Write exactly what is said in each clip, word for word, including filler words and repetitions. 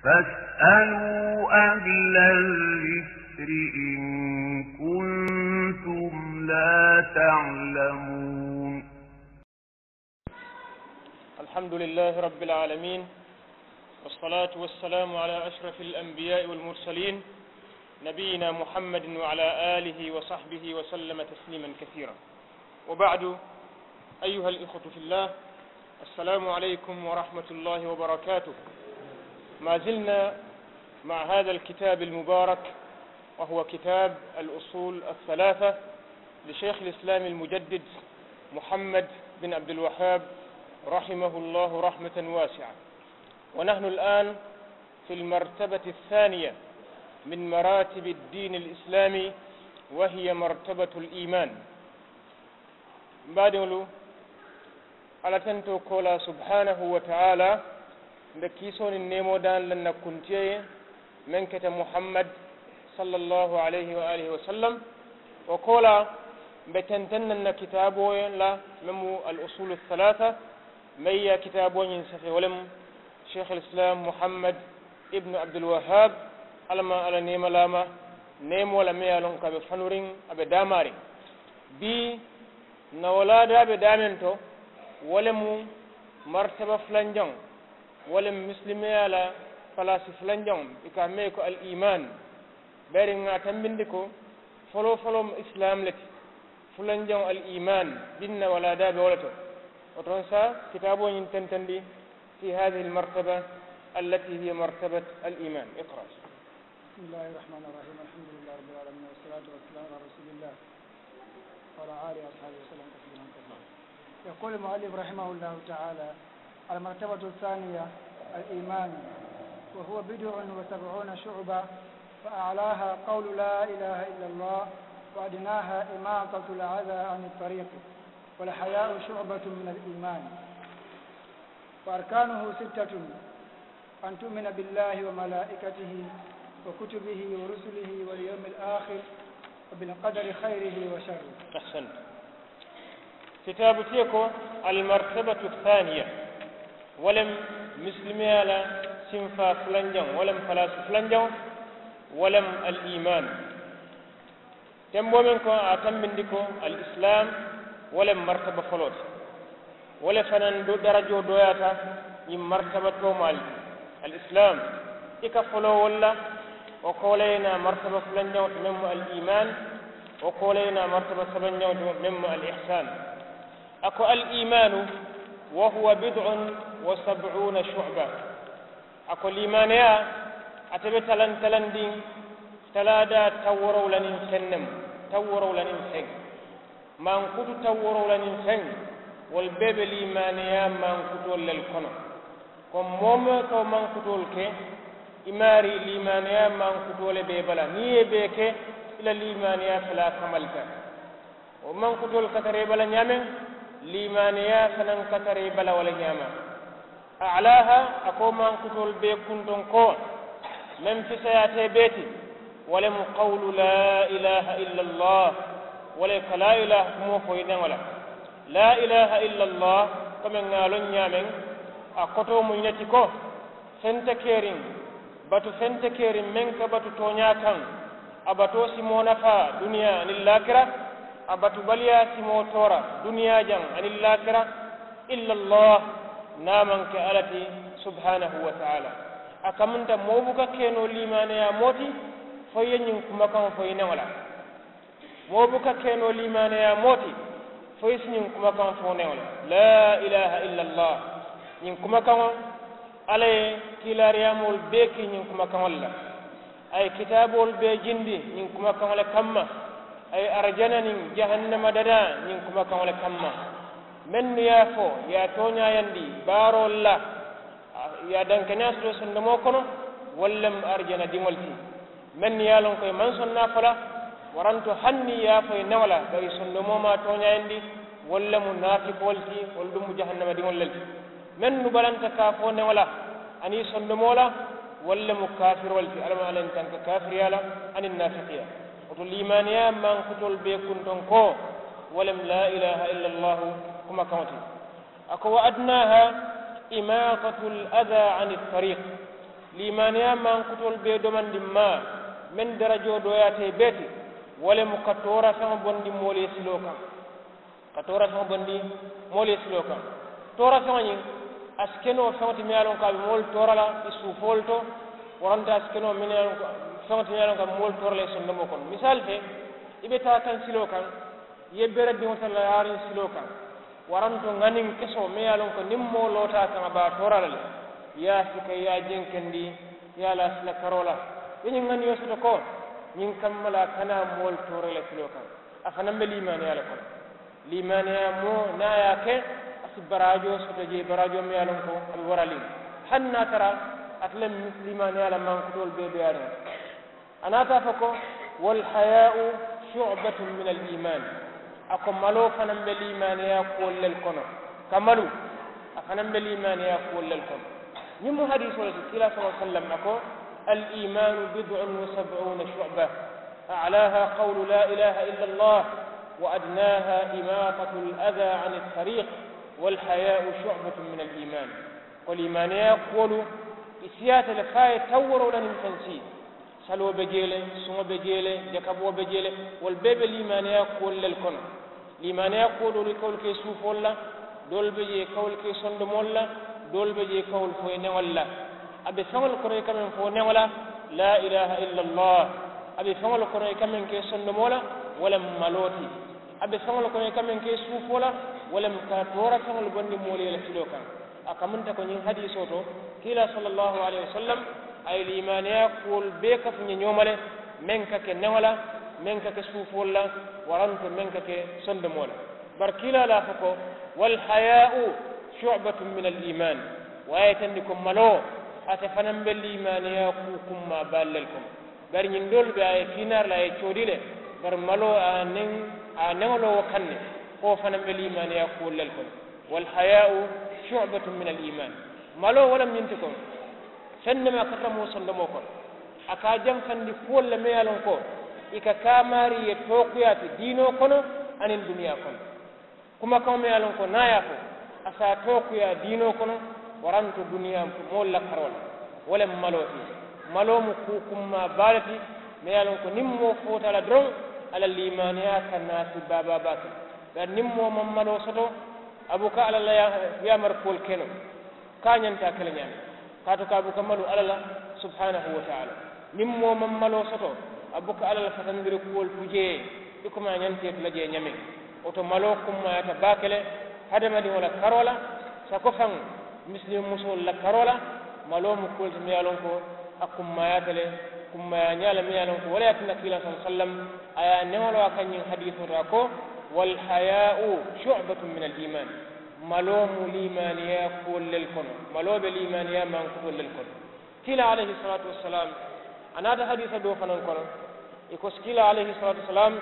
فاسألوا أهل الذكر إن كنتم لا تعلمون. الحمد لله رب العالمين، والصلاة والسلام على أشرف الأنبياء والمرسلين، نبينا محمد وعلى آله وصحبه وسلم تسليما كثيرا. وبعد، أيها الإخوة في الله، السلام عليكم ورحمة الله وبركاته. ما زلنا مع هذا الكتاب المبارك، وهو كتاب الأصول الثلاثة لشيخ الإسلام المجدد محمد بن عبد الوهاب رحمه الله رحمة واسعة. ونحن الآن في المرتبة الثانية من مراتب الدين الإسلامي، وهي مرتبة الإيمان. Mbaadiŋolu, Alla tentoo koolaa subhaanahu wa ta'aalaa, mbe kiisoo niŋ neemoo daali la n na kuntiya ye, meŋ keta Muhammad, sallallahu alayhi wa alihi wa sallam. Wo koolaa, mbe tenteŋ na n na kitaaboo la, meŋ mu al-usuulu salaasa, meŋ ye a kitaaboo ñiŋ safee, wo le mu Sheikh al-Islam Muhammad ibn Abdul Wahhab, Alla maŋ Alla neemalaama, neemoo la meŋ ye a loŋ ko a be fanuriŋ, a be daamaariŋ. Bii, N na wo laadaa be daameŋ to, wo le mu martaba fulanjaŋo, wo le mu misilimeyaa la palaasi fulanjaŋo, i ka a mee ko al-iimaan. Bayiri ŋà a tambindi ko, foloo foloo mu isilaamu le ti, fulanjaŋo al-iimaan, bii n na wo laadaa be wo le to. Wo to n sa kitaaboo ñiŋ tentendi, fi haadihi al-martaba, allati hiya martabat al-iimaan. Iqra. بسم الله الرحمن الرحيم. الحمد لله رب العالمين، والصلاة والسلام على رسول الله وعلى آله وأصحابه وسلم تسليما كثيرا. يقول المؤلف رحمه الله تعالى: المرتبة الثانية الإيمان، وهو بضع وسبعون شعبة، فأعلاها قول لا إله إلا الله، وأدناها إماطة الأذى عن الطريق، والحياء شعبة من الإيمان، وأركانه ستة، أن تؤمن بالله وملائكته وكتبه ورسله واليوم الآخر وبالقدر خيره وشره. أحسنت. Kitaabu ti ko, al-martabatu thaaniya, wo le mu misilimeyaa la sinfaa fulanjaŋo, wo le mu palaasi fulanjaŋo, wo le mu al-iimaan. Temboo meŋ ko a tambindi ko al-isilaamu, wo le mu martaba foloo ti. Wo le fanaŋ do darajoo dooyaata ñiŋ martaba toomaalu ti. Al-isilaamu, i ka foloo wo le la, wo ko wo le ye naa martaba fulanjaŋo ti meŋ mu al-iimaan, wo ko wo le ye naa martaba sabanjaŋo ti meŋ mu al-ihsaan. A ko al-iimaanu, wa huwa bid'un wa sab'uuna shu'ba. A ko liimaaneyaa, ate be talaŋ talandiŋ talaadaa tawooroo la niŋ feŋ ne mu, tawooroo la niŋ feŋ, mankutu tawooroo la niŋ feŋ, wolu bee be liimaaneyaa mankutoolu le kono. Ko moo woo moo ka wo mankutoolu ke, i maarii liimaaneyaa mankutoo le be i bala, niŋ i ye i bee ke, i la liimaaneyaa fele a kamalita. Wo mankutoolu ka tara i bala ñaameŋ, liimaaneyaa fanaŋ ka tara i bala wo le ñaama. A'laaha, a ko mankutoolu bee kuntonkoo, meŋ fisayaata i bee ti, wo le mu qawlu laa ilaaha illa Allah, wo le ka laa ilaaha kumoo fo i neŋo la. Laa ilaaha illa Allah, komi ŋà a loŋ ñaameŋ, a kotoo mu ñiŋ ne ti ko, feŋ te keriŋ, batu feŋ te keriŋ meŋ ka batu tooñaa kaŋ, a batoo si moo nafaa duniyaa aniŋ laakira, a batubaliyaa si moo toora duniyaa jaŋ aniŋ laakira, illa Allah, niŋ a maŋ ke Alla ti, subhaanahu wa taala. A kamunta moo buka ke noo liimaaneyaa moo ti, fo i ye ñiŋ kumakaŋo fo i neŋo la. Moo buka ke noo liimaaneyaa moo ti, fo i si ñiŋ kumakaŋo fo i neŋo la. Laa ilaaha illa Allah. Ñiŋ kumakaŋo, Alla ye kiilaariyaamoolu bee kii ñiŋ kumakaŋolu la. A ye kitaaboolu bee jindi ñiŋ kumakaŋo le kamma. A ye arijana niŋ jahannama dadaa ñiŋ kumakaŋo le kamma. Mennu ye a fo, i ye a tooñaayandi baaroolu la, i ye a dankeneyaa soto sondomoo kono, wolu le mu arijana diŋolu ti. Mennu ye a loŋ ko i maŋ sonnaa fo la, waranto hani i ye a fo i neŋo la, bari sondomoo maŋ a tooñaayandi, wolu le mu naafikoolu ti, wolu duŋ mu jahannama diŋolu le ti. Mennu balanta ka a fo neŋo la aniŋ sondomoo la, wolu le mu kaafiroolu ti. Alla maŋ Alla ye n tanka kaafiriyaa la aniŋ naafiqiyaa. Wo to liimaaneyaa mankutoolu bee kuntonkoo, wo le mu laa ilaaha illa Allahu kumakaŋo ti. A ko, wa adnaaha imaatatul adaa ani tariiq. Liimaaniyaa mankutoolu bee domandiŋ maa meŋ darajoo dooyaata i bee ti, wo le mu ka toora feŋo bondi moolu ye siloo kaŋ. Ka toora feŋo bondi moolu ye siloo kaŋ. Toora feŋo ñiŋ, a si ke noo feŋo ti meŋ ye a loŋ ko a be moolu toora la i suufoolu to. Waranta a si ke noo meŋ ye a loŋ ko feŋo ti meŋ ye a loŋ ko a be moolu toora la i sondomoo kono. Misaali te, i be taa kaŋ siloo kaŋ, i ye bere diŋo tara la yaariŋ siloo kaŋ. Waranto ŋaniŋ kesoo meŋ ye a loŋ ko niŋ moo loota a kaŋ a be a toora la le, i ye a sika i ye a jenkendi, i ye a laa sila karoo la. I ye ñiŋ ŋaniyo soto ko ñiŋ kamma la a kana moolu toora la siloo kaŋ. A fanaŋ be liimaaniyaa le kono. Liimaaniyaa moo niŋ a ye a ke, a si baraajoo soto jee baraajoo meŋ ye a loŋ ko a be waraliŋ. Hani niŋ a tara ate le liimaaniyaa la mankutoolu bee beeyaariŋ. A naata a fo ko, walhayaau subatun min al iman. A ko maloo fanaŋ be liimaaniyaa kuwolu le kono. Ka malu, a fanaŋ be liimaaniyaa kuwolu le kono. Ñiŋ mu hadiisoo le ti kiilaa sala sallam a ko, al imanu bidun wa sabuna shuba, alaha qawlu la ilaha illa allah, wa adnaha imatatu al ada an al tariq, walhayaau subatun min al iman. Ko liimaaniyaa kuwolu i siyaata le fo a ye taŋ woroo la niŋ feŋ sii. Saloo be jee le, suŋo be jee le, jakaboo be jee le. Wolu bee be liimaaniyaa kuwolu le kono. Liimaaniyaa kuwo doolu i ka wolu ke i suufoolu la, doolu be jee i ka wolu ke i sondomoolu la, doolu be jee i ka wolu fo i neŋolu la. A be feŋolu kono i ka meŋ fo neŋo la, laa ilaaha illa allah. A be feŋolu kono i ka meŋ ke i sondomoo la, wo le mu maloo ti. A be feŋolu kono i ka meŋ ke i suufoo la, wo le mu ka toora feŋolu bondi moolu ye le filoo kaŋ. A kamunta ko ñiŋ hadiisoo to, kiilaa sallallaahu alayhi wa sallam a ye liimaaniyaa kuwolu bee kafu ñe ñooma le, meŋ ka ke neŋo la, meŋ ka ke suufoolu la, waranto meŋ ka ke sondomoo la. Bari kiilaa la a fo ko, walhayaau subatun min al iman. Wo a ye tandi ko maloo, ate fanaŋ be liimaaniyaa kuu kummaa baalu le kono. Bari ñiŋ doolu be a ye fiinaari la a ye coodi le. Bari maloo a neŋ a neŋo loo wo kaŋ ne, ko wo fanaŋ be liimaaniyaa kuwolu le kono. Walhayaau subatun min al iman. Maloo wo le mu ñiŋ ti ko, feŋ ne maa ka tara moo sondomoo kono, a ka a janfandi kuwolu le meŋ ye a loŋ ko i ka kaamaari ye tookuyaa ti diinoo kono aniŋ duniyaa kono. Kumakaŋo meŋ ye a loŋ ko niŋ a ye a fo, a si a tookuyaa diinoo kono, waranto duniyaa moolu la karoo la. Wo le mu maloo ti. Maloo mu kuu kummaa baa le ti, meŋ ye a loŋ ko niŋ moo foota a la doroŋ, a la liimaaniyaa ka naati baa baa baa ti. Bari niŋ moo maŋ maloo soto, a buka alla la yaamari kuwolu ke noo, ka a ñanta a ke le ñaamiŋ. Kaatu ka a buka malu alla la, subhaanahu wa taala. Niŋ moo maŋ maloo soto, a buka alla la fatandiri kuwolu tu jee i ko meŋ a ñanta i tu la jee ñaamiŋ. Wo to maloo kummaayaata baake le hadamadiŋo la karoo la, sako faŋ misilimi musoolu la karoo la. Maloo mu kuwo le ti meŋ ye a loŋ ko a kummaayaata le, kummaayaa ñaa le meŋ ye a loŋ ko wo le ye a tinna kiilaa sallallaahu alayhi wa sallam a ye a neŋo loo a kaŋ ñiŋ hadiisoo to a ko, walhayaau subatun min al iman. Maloo mu liimaaniyaa kuwolu le kono. Maloo be liimaaniyaa mankutoolu le kono. Kiilaa alayhi salaatu wassalaamu a naata hadiisa doo fanaŋ kono, i ko kiilaa alayhi salaatu wassalaamu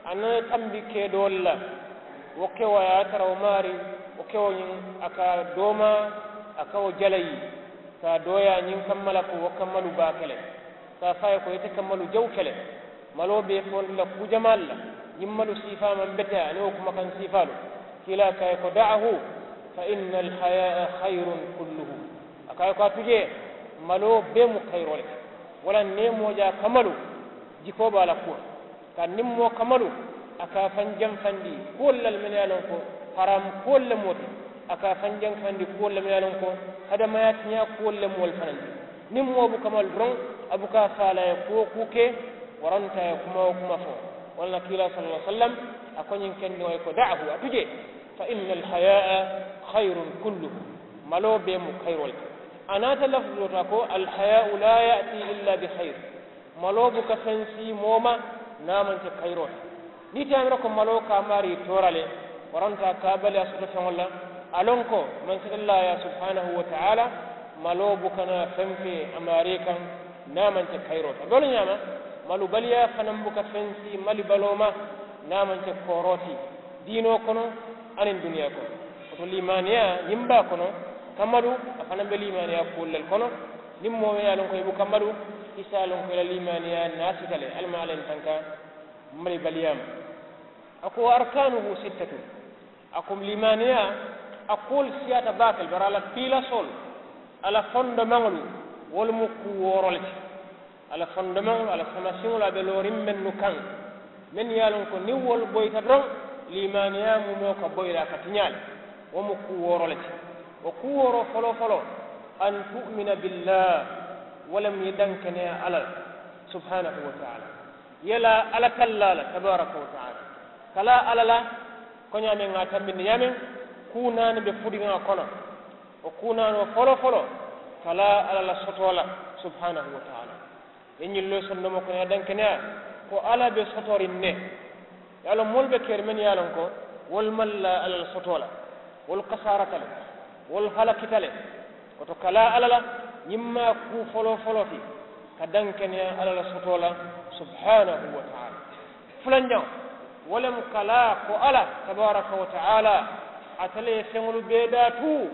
a nana tambi kee doolu la. Wo kewo a ye a tara wo maarii, wo kewo ñiŋ a ka a doomaa, a ka wo jalayi, ka a dooyaa ñiŋ kamma la ko wo ka malu baake le. Ka a fo a ye ko ite ka malu jawu ke le. Maloo be i fondi la kuu jamaalu la. Ñiŋ malu siifaa maŋ beteyaa aniŋ wo kumakaŋ siifaalu. Kiilaa ko a ye ko, daahu, fa inna alhayaa hayrun kulluhu. A ko a ye ko a tu jee, maloo bee mu kayiroo le ti. Wolaŋ niŋ i ye moo je a ka malu, jikoo be a la kuwo la. Kaatu niŋ moo ka malu, a ka a faŋ janfandi kuwolu la le mennu ye a loŋ ko haraamu kuwolu le mu wo ti. A ka a faŋ janfandi kuwolu le mennu ye a loŋ ko hadamayaa tiñaa kuwolu le mu wolu fanaŋ ti. Niŋ moo buka malu doroŋ, a buka a faa la a ye kuwo kuu ke, waranto a ye kuma wo kuma fo. Wo le na kiilaa sallallaahu alayhi wa sallam a ko ñiŋ kendiŋo ye ko, daahu, a tu jee, fa inna alhayaa hayrun kulluhu. Maloo bee mu kayiroo le ti. A naata lafuzoo to a ko, alhayaau laa yaati illa bi hayr. Maloo buka feŋ sii moo ma niŋ a maŋ ke kayiroo ti. Niŋ i te a mira ko maloo ka a maarii toora le, waranto a ka a bali a soto feŋolu la, a loŋ ko mansatallaayaa subhaanahu wa taala, maloo buka naa feŋ fee a maarii kaŋ niŋ a maŋ ke kayiroo ti. A be wo le ñaama, malubaliyaa fanaŋ buka feŋ sii malibaloo ma niŋ a maŋ ke kooroo ti diinoo kono aniŋ duniyaa kono. Wo to liimaaniyaa ñiŋ baa kono, ka malu a fanaŋ be liimaaniyaa kuwolu le kono. Niŋ moo meŋ ye a loŋ ko i buka malu, i si a loŋ ko i la liimaaniyaa naasita le. Ali ma alla ye n tanka malibaliyaa ma. A ko, wa arkaanuhu sittatun. A ko liimaaniyaa a kuwolu siyaata baake le, bari a la piilasoolu, a la fondomaŋolu, Wolu mu kuu wooro le ti. A la fondomeŋolu, a la samasiŋolu, a be looriŋ mennu kaŋ, mennu ye a loŋ ko niŋ wolu boyita doroŋ, liimaaniyaa mumoo ka boyi la a ka tiñaa le. Wo mu kuu wooro le ti. Wo kuu wooro foloo foloo, an tu'mina billah, wo le mu ye dankeneyaa alla la, subhanahu wa taala. Ye laa alla tallaa la tabaraka wa taala, ka laa alla la, ko ñaameŋ ŋa a tambindi ñaameŋ, kuu naani be fudiŋo kono. Wo kuu naanoo foloo foloo, ka laa alla la sotoo la, subhanahu wa taala. Ye ñiŋ loŋ sondomoo kono ye a dankeneyaa, ko alla be sotoriŋ ne. Ye a loŋ moolu be keri mennu ye a loŋ ko wolu maŋ laa alla la sotoo la, wolu kasaarata le, wolu halakita le. Wo to ka laa alla la, ñiŋ mu a kuu foloo foloo ti, ka dankeneyaa alla la sotoo la, subhanahu wa taala. Fulanjaŋo, wo le mu ka laa ko alla tabaraka wa taala, ate le ye feŋolu bee daa tuu,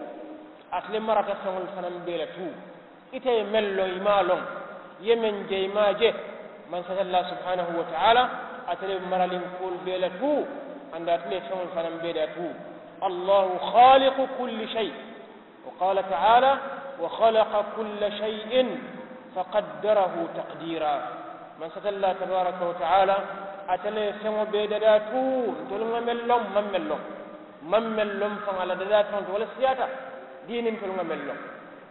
ate le marata feŋolu fanaa bee la tuu. Ite ye meŋ loŋ i maŋ a loŋ, i ye meŋ je i maŋ a je, mansatallaa subhanahu wa taala, ate le be maraliŋ kuwolu bee la tuu, aduŋ ate le ye feŋolu fanaa bee daa tuu. Allahu khaliqu kulli shay. Wa qala taala, wa khalaqa kulla shay'in fa qaddarahu taqdira. Mansatallaa tabaraka wa taala, ate le ye feŋo bee dadaa tuu, ntolu ŋa meŋ loŋ, maŋ meŋ loŋ. Maŋ meŋ loŋ faŋ a la dadaa feŋo ti, wo le siyaata diini, ntolu ŋa meŋ loŋ.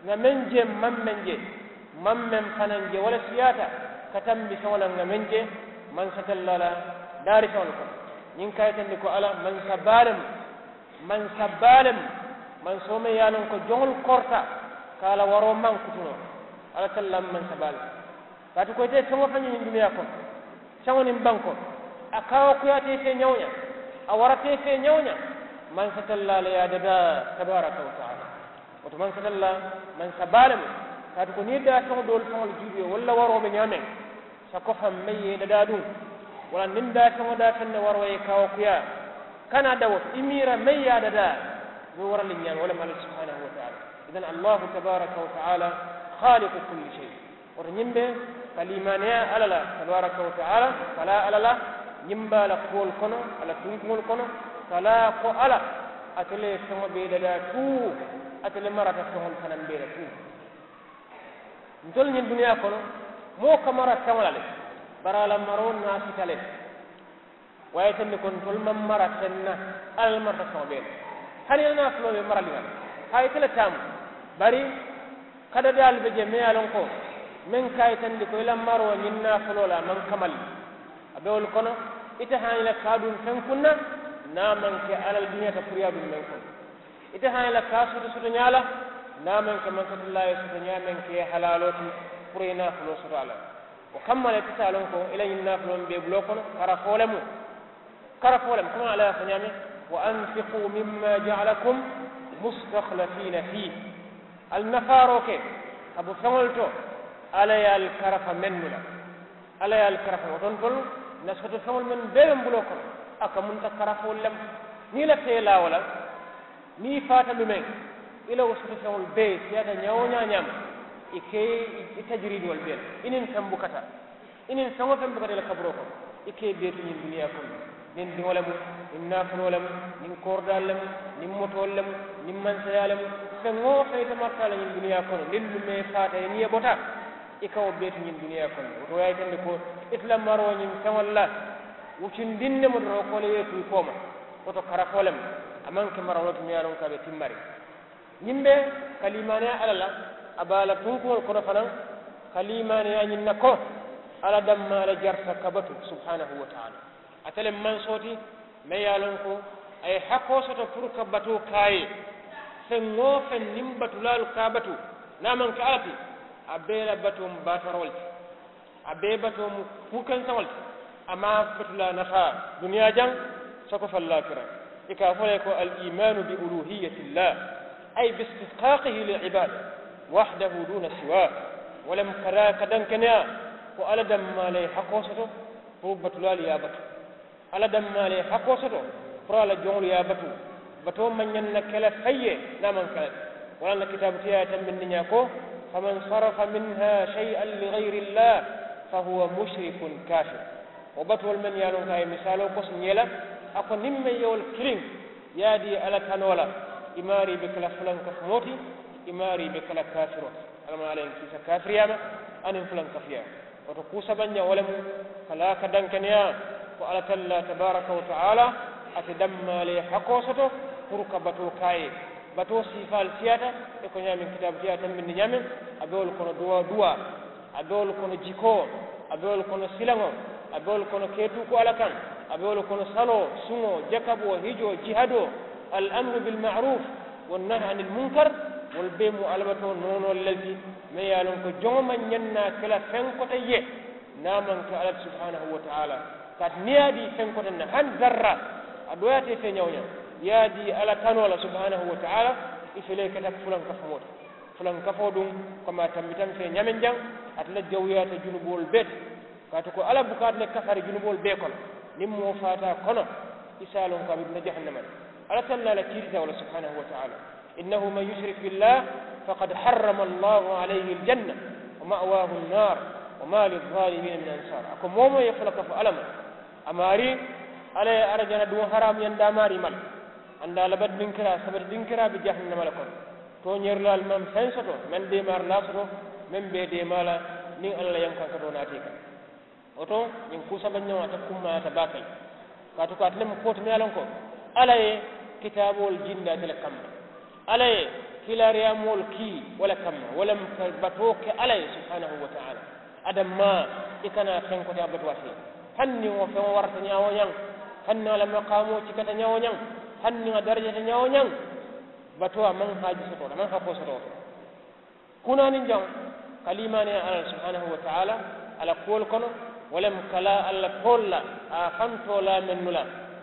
Ŋa meŋ je, maŋ meŋ je, maŋ meŋ fanaŋ je, wo le siyaata ka tambi feŋo la, ŋa meŋ je mansatallaa la daari feŋolu kono. Ñiŋ ka a yitandi ko alla mansa baa le mu. Mansa baa le mu, mansoo meŋ ye a loŋ ko joŋolu korita, ka a la waroo maŋ kutunoo. Alla tallaa mu mansa baa le ti. Kaatu ko ite ye feŋ-wo-feŋ je ñiŋ duniyaa kono, saŋo niŋ bankoo, a kaawakuyaata i fee ñawo-ñaa, a warata i fee ñawo-ñaa, mansatallaa le ye a dadaa tabaraka wa taala. Wo to mansatallaa, mansa baa le mu. Kaatu ko niŋ i daafeŋo doolu faŋolu juubee, wolu la waroo be ñaameŋ, sako faŋ meŋ ye i dadaa duŋ, walla niŋ daafeŋo daafeŋ ne waroo ye i kaawakuyaa, kana dawo i miira meŋ ye a dadaa, i be waraliŋ ñaameŋ, wo le mu alla subhanahu wa taala. Idan allahu tabaraka wa taala, khaliqu kulli shay. Wo to ñiŋ be ka liimaaniyaa alla la tabaraka wa taala, ka laa alla la ñiŋ baa la kuwolu kono, a la tunkuŋolu kono, ka laa ko alla, ate le ye feŋo bee dadaa tuu, ate le marata feŋolu fanaa bee la tuu. Ntolu ñiŋ duniyaa kono, moo ka mara feŋo la le, bari a la maroo naafita le. Wo ye a yitandi ko ntolu maŋ mara feŋ na, alla le marata feŋo bee la. Hani i la naafuloo be maraliŋ a la, haa ite le taamu, bari kadadaalu be jee meŋ ye a loŋ ko, meŋ ka a yitandi ko i la maroo ñiŋ naafuloo la a maŋ kamali. A be wolu kono, ite hani i la ka a duŋ feŋ kuŋ na, niŋ a maŋ ke alla le duñata puru i ye a duŋ meŋ kono. Ite hani i la ka a soto soto ñaa la, niŋ a maŋ ke mansatallaa ye soto ñaa meŋ ka i ye halaaloo ti, puru i ye naafuloo soto a la. Wo kamma le ite si a loŋ ko i la ñiŋ naafuloo meŋ be i buloo kono, karafoo le mu. Karafoo le mu, komi alla ye a fo ñaameŋ, wa anfiqu mimma jaalakum mustakhlafiina fiih. Ali nafaaroo ke ka bo feŋolu to, alla ye ali karafa mennu la. Alla ye ali karafa, wo to ntolu na soto feŋolu mennu bee be n buloo kono, a kamunta karafoolu le ma. Niŋ i lafita i laa wo la, niŋ i faata lumeŋ, i la wo soto feŋolu bee siyaata ñaa-wo-ñaa ñaama, i ka i tajiriidiŋolu bee le, i niŋ feŋ buka taa, i niŋ feŋ-wo-feŋ buka taa i la kaburoo kono, i ka i bee tu ñiŋ duniyaa kono. Niŋ diŋo le mu, niŋ naafuloo le mu, niŋ kooridaalu le mu, niŋ motoolu le mu, niŋ mansayaa le mu, feŋ-wo-feŋ ite marata a la ñiŋ duniyaa kono, niŋ lumee faata i niŋ i bota, i ka wo bee tu ñiŋ duniyaa kono. Wo to wo ye a yitandi ko ite la maroo ñiŋ feŋolu la, wucundiŋ ne mu doroŋ ko le i ye i tu i kooma. Wo to karafoo le mu, a maŋ ke maraloo ti meŋ ye a loŋ ko a be timmariŋ. Ñiŋ be ka liimaaniyaa alla la, a be a la tunkuŋolu kono fanaŋ, ka liimaaniyaa ñiŋ na ko alla dammaa le jarita ka batu subhanahu wa taala. Ate le mansoo ti meŋ ye a loŋ ko a ye hakoo soto puru ka batoo ke a ye. Feŋ-wo-feŋ niŋ batulaalu ka a batu, niŋ a maŋ ke alla ti, a bee la batoo mu baataroo le ti. A bee batoo mu kuu kenseŋo le ti. A maŋ a batulaa nafaa duniyaa jaŋ, sako fo alaakira. I ka a fo le ko al imaanu bi uluhiyatillah, ay bi istihqaaqihi lil ibaada wahdahu duuna siwaa. Wo le mu ka daa ka dankeneyaa ko alla dammaa le ye hakoo soto puru batulaalu ye a batu. Alla dammaa le ye hakoo soto puru a la joŋolu ye a batu. Batoo maŋ ñaŋ na ke la faŋ ye niŋ a maŋ ke alla ti. Wo le ye a tinna kitaabu tiyaa ye a tambindi ñaa ko, faman sarafa minha shay'an li ghayri llah fa huwa mushrikun kaafir. Wo batuwolu mennu ye a loŋ ko a ye misaaloo kosi ñee la, a ko niŋ meŋ ye wolu kiliŋ ye a dii alla tanoo la, i maarii be ke la fulankafumoo ti, i maarii be ke la kaafiroo ti. Alla maŋ ala ye n kiisa kaafiriyaa ma aniŋ fulankafuyaa. Wo to kuu sabanjaŋ wo le mu ka laa ka dankeneyaa ko alla tallaa tabaaraka wa taala ate dammaa le ye hakoo soto puru ka batoo ke a ye. Batoo siifaalu siyaata i ko ñaameŋ kitaabu tiyaa tambindi ñaameŋ. A be wolu kono duwaa duwaa, a be wolu kono jikoo, a be wolu kono silaŋo, a be wolu kono keetuuku alla kaŋ, a be wolu kono saloo, suŋo, jakaboo, hijoo, jihadoo, al amru bil maaruuf, wa nahi anil munkar. Wolu bee mu alabatoo noonoolu le ti meŋ ye a loŋ ko joŋo maŋ ñaŋ naa ke la feŋ kote ye niŋ a maŋ ke alla ti subhaanahu wa taala. Kaatu niŋ i ye a dii feŋ kote na hani darra a dooyaata i fee ñawo ñaŋ, i ye a dii alla tanoo la subhaanahu wa taala, i fele keta fulankafu moo ti. Fulankafoo duŋ komi a tambita n fee ñaameŋ jaŋ, ate le jawuyaata junuboolu bee ti. Kaatu ko alla buka ate le kafari junuboolu bee kono. Niŋ moo faata a kono i si a loŋ ko a be duna jahannama le. Alla tallaa la kiitita wo le subhaanahu wa taala. Innahu man yushrik billah faqad harrama allahu alayhi aljanna wa ma'waahu annaar wa ma lizzaalimiina min ansaar. A ko moo moo ye fula ka fo alla ma a maarii alla ye arijana duŋo haraamuyandi a maarii ma le. Andaa labati dinkiraa sabati dinkiraa be jahannama le kono. Tooñeerilaalu maŋ feŋ soto meŋ deemaari laa soto meŋ be i deemaa la niŋ alla la yankankatoo naata i kaŋ. Wo to ñiŋ kuu sabanjaŋo ate kummayaata baake le. Kaatu ko ate le mu kuwo ti meŋ ye a loŋ ko alla ye kitaaboolu jindi ate le kamma. Alla ye kiilaariyaamoolu kii wo le kamma wo le mu ka batoo ke alla ye subhaanahu wa taala. Adammaa i kana feŋ koteyaa batuwaa fee. Hanniŋ wo feŋo warata ñaa-wo-ñaŋ, hanniŋ a la makaamoo cikata ñaa-wo-ñaŋ, hanniŋ a darajata ñaa-wo-ñaŋ, batoo a maŋ haaji soto wo to a maŋ hakoo soto wo to. Kunaaniŋ jaŋ ka liimaaniyaa alla la subhaanahu wa taala a la kuwolu kono, wo le mu ka laa alla toolu la a ye a faŋ toolaa mennu la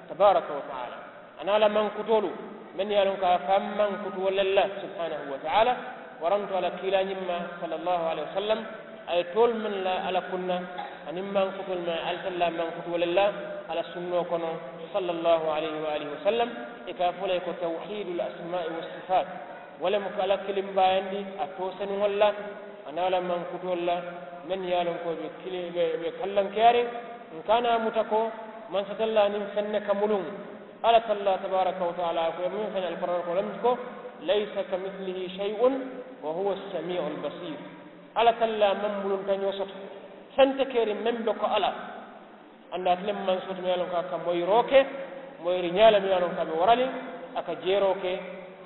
tabaaraka wa taala. A niŋ a la mankutoolu mennu ye a loŋ ko a ye a faŋ mankutu wolu le la subhaanahu wa taala. Waranto a la kiilaa ñiŋ ma sallallaahu alayhi wa sallam, a ye toolu mennu la a la kunna aniŋ mankutoolu mennu a ye alitalla mankutu wolu le la a la sunnoo kono sallallaahu alayhi wa aalihi wa sallam. I ka a fo le ko tawhiidul asmaa'i wa sifaat. Wo le mu ka alla kilimbaayandi a toosenuŋolu la a niŋ a la mankutoolu la mennu ye a loŋ ko i be kili i be kallankeyaariŋ. N ka a naa muta ko mansatallaa niŋ feŋ ne ka muluŋ. Alla tallaa tabaaraka wa taala a ko i ye muŋ feŋ alkuraana ko lam ko laysa ka misilihi shay'un wa huwa assamii'u albasiir. Alla tallaa maŋ muluntañoo soto feŋ te keeriŋ meŋ be ko alla. Andaa ate le mu mansoo ti meŋ ye a loŋ ko a ka moyiroo ke moyiri ñaa le meŋ ye a loŋ ko a be waraliŋ a ka jeeroo ke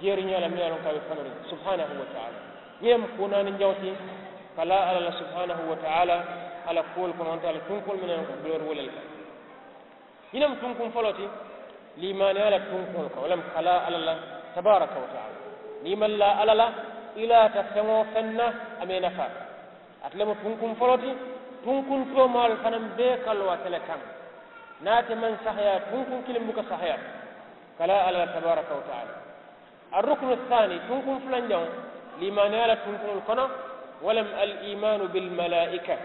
jeeri ñaa le meŋ ye a loŋ ko a be fanuriŋ subhaanahu wa taala. Ñiŋ ye mu kuu naani jaŋo ti ka laa alla la subhaanahu wa taala. A la kuwolu kono wonta a la tunkoolu meŋ ye a loŋ ko a be wolu le kaŋ. Ñiŋ ne mu tunkuŋ foloo ti liimaaniyaa la tunkuŋolu kaŋ wo le mu ka laa alla la tabaaraka wa taala. Niŋ i maŋ laa alla la i laata feŋ-wo-feŋ na a maŋ i nafaa. Ate le mu tunkuŋ foloo ti. Tunkuŋ toomaalu fanaa bee ka loo ate le kaŋ. Niŋ ate maŋ sahayaa tunkuŋ kiliŋ buka sahayaa ka laa alla la tabaaraka wa taala. Arrukunu saani tunkuŋ fulanjaŋo liimaaniyaa la tunkuŋolu kono wo le mu al iimaanu bil malaa'ika.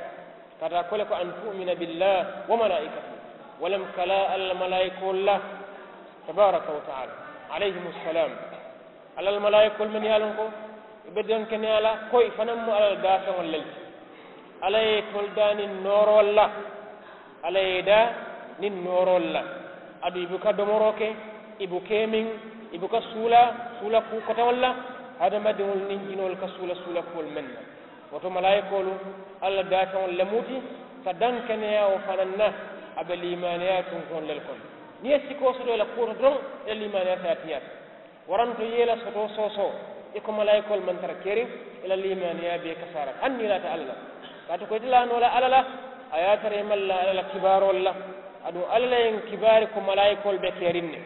Ka taa ko le ko an tu'umina billaahi wa malaa'ikatihi. Wo le mu ka laa alla la malaayikoolu la tabaaraka wa taala alayhimu salaam. Alla la malaayikoolu mennu ye a loŋ ko i be denkeneyaa la ko i fanaa mu alla la daafeŋolu le ti. Alla ye itolu daa niŋ nooroolu la. Alla ye i daa niŋ nooroolu la. Aduŋ i buka domoroo ke i buka i miŋ i buka suulaa suula kuu koteŋolu la. Hadamadiŋolu niŋ jinoolu ka suula suula kuwolu mennu na. Wo to malaayikoolu alla la daafeŋolu le mu ti ka dankeneyaa wo fanaa na. A be liimaaniyaa tunkuŋolu le kono. Niŋ i ye sikoo soto i la kuwo to doroŋ i la liimaaniyaa si a tiñaa ti. Waranto i ye i la sotoo soosoo i ko malaayikoolu maŋ tara keeriŋ i la liimaaniyaa bee kasaara la hani niŋ i laata alla la. Kaatu ko ite laa noo la alla la a ye a tara i maŋ laa alla la kibaaroolu la. Aduŋ alla le ye n kibaari ko malaayikoolu be keeriŋ ne.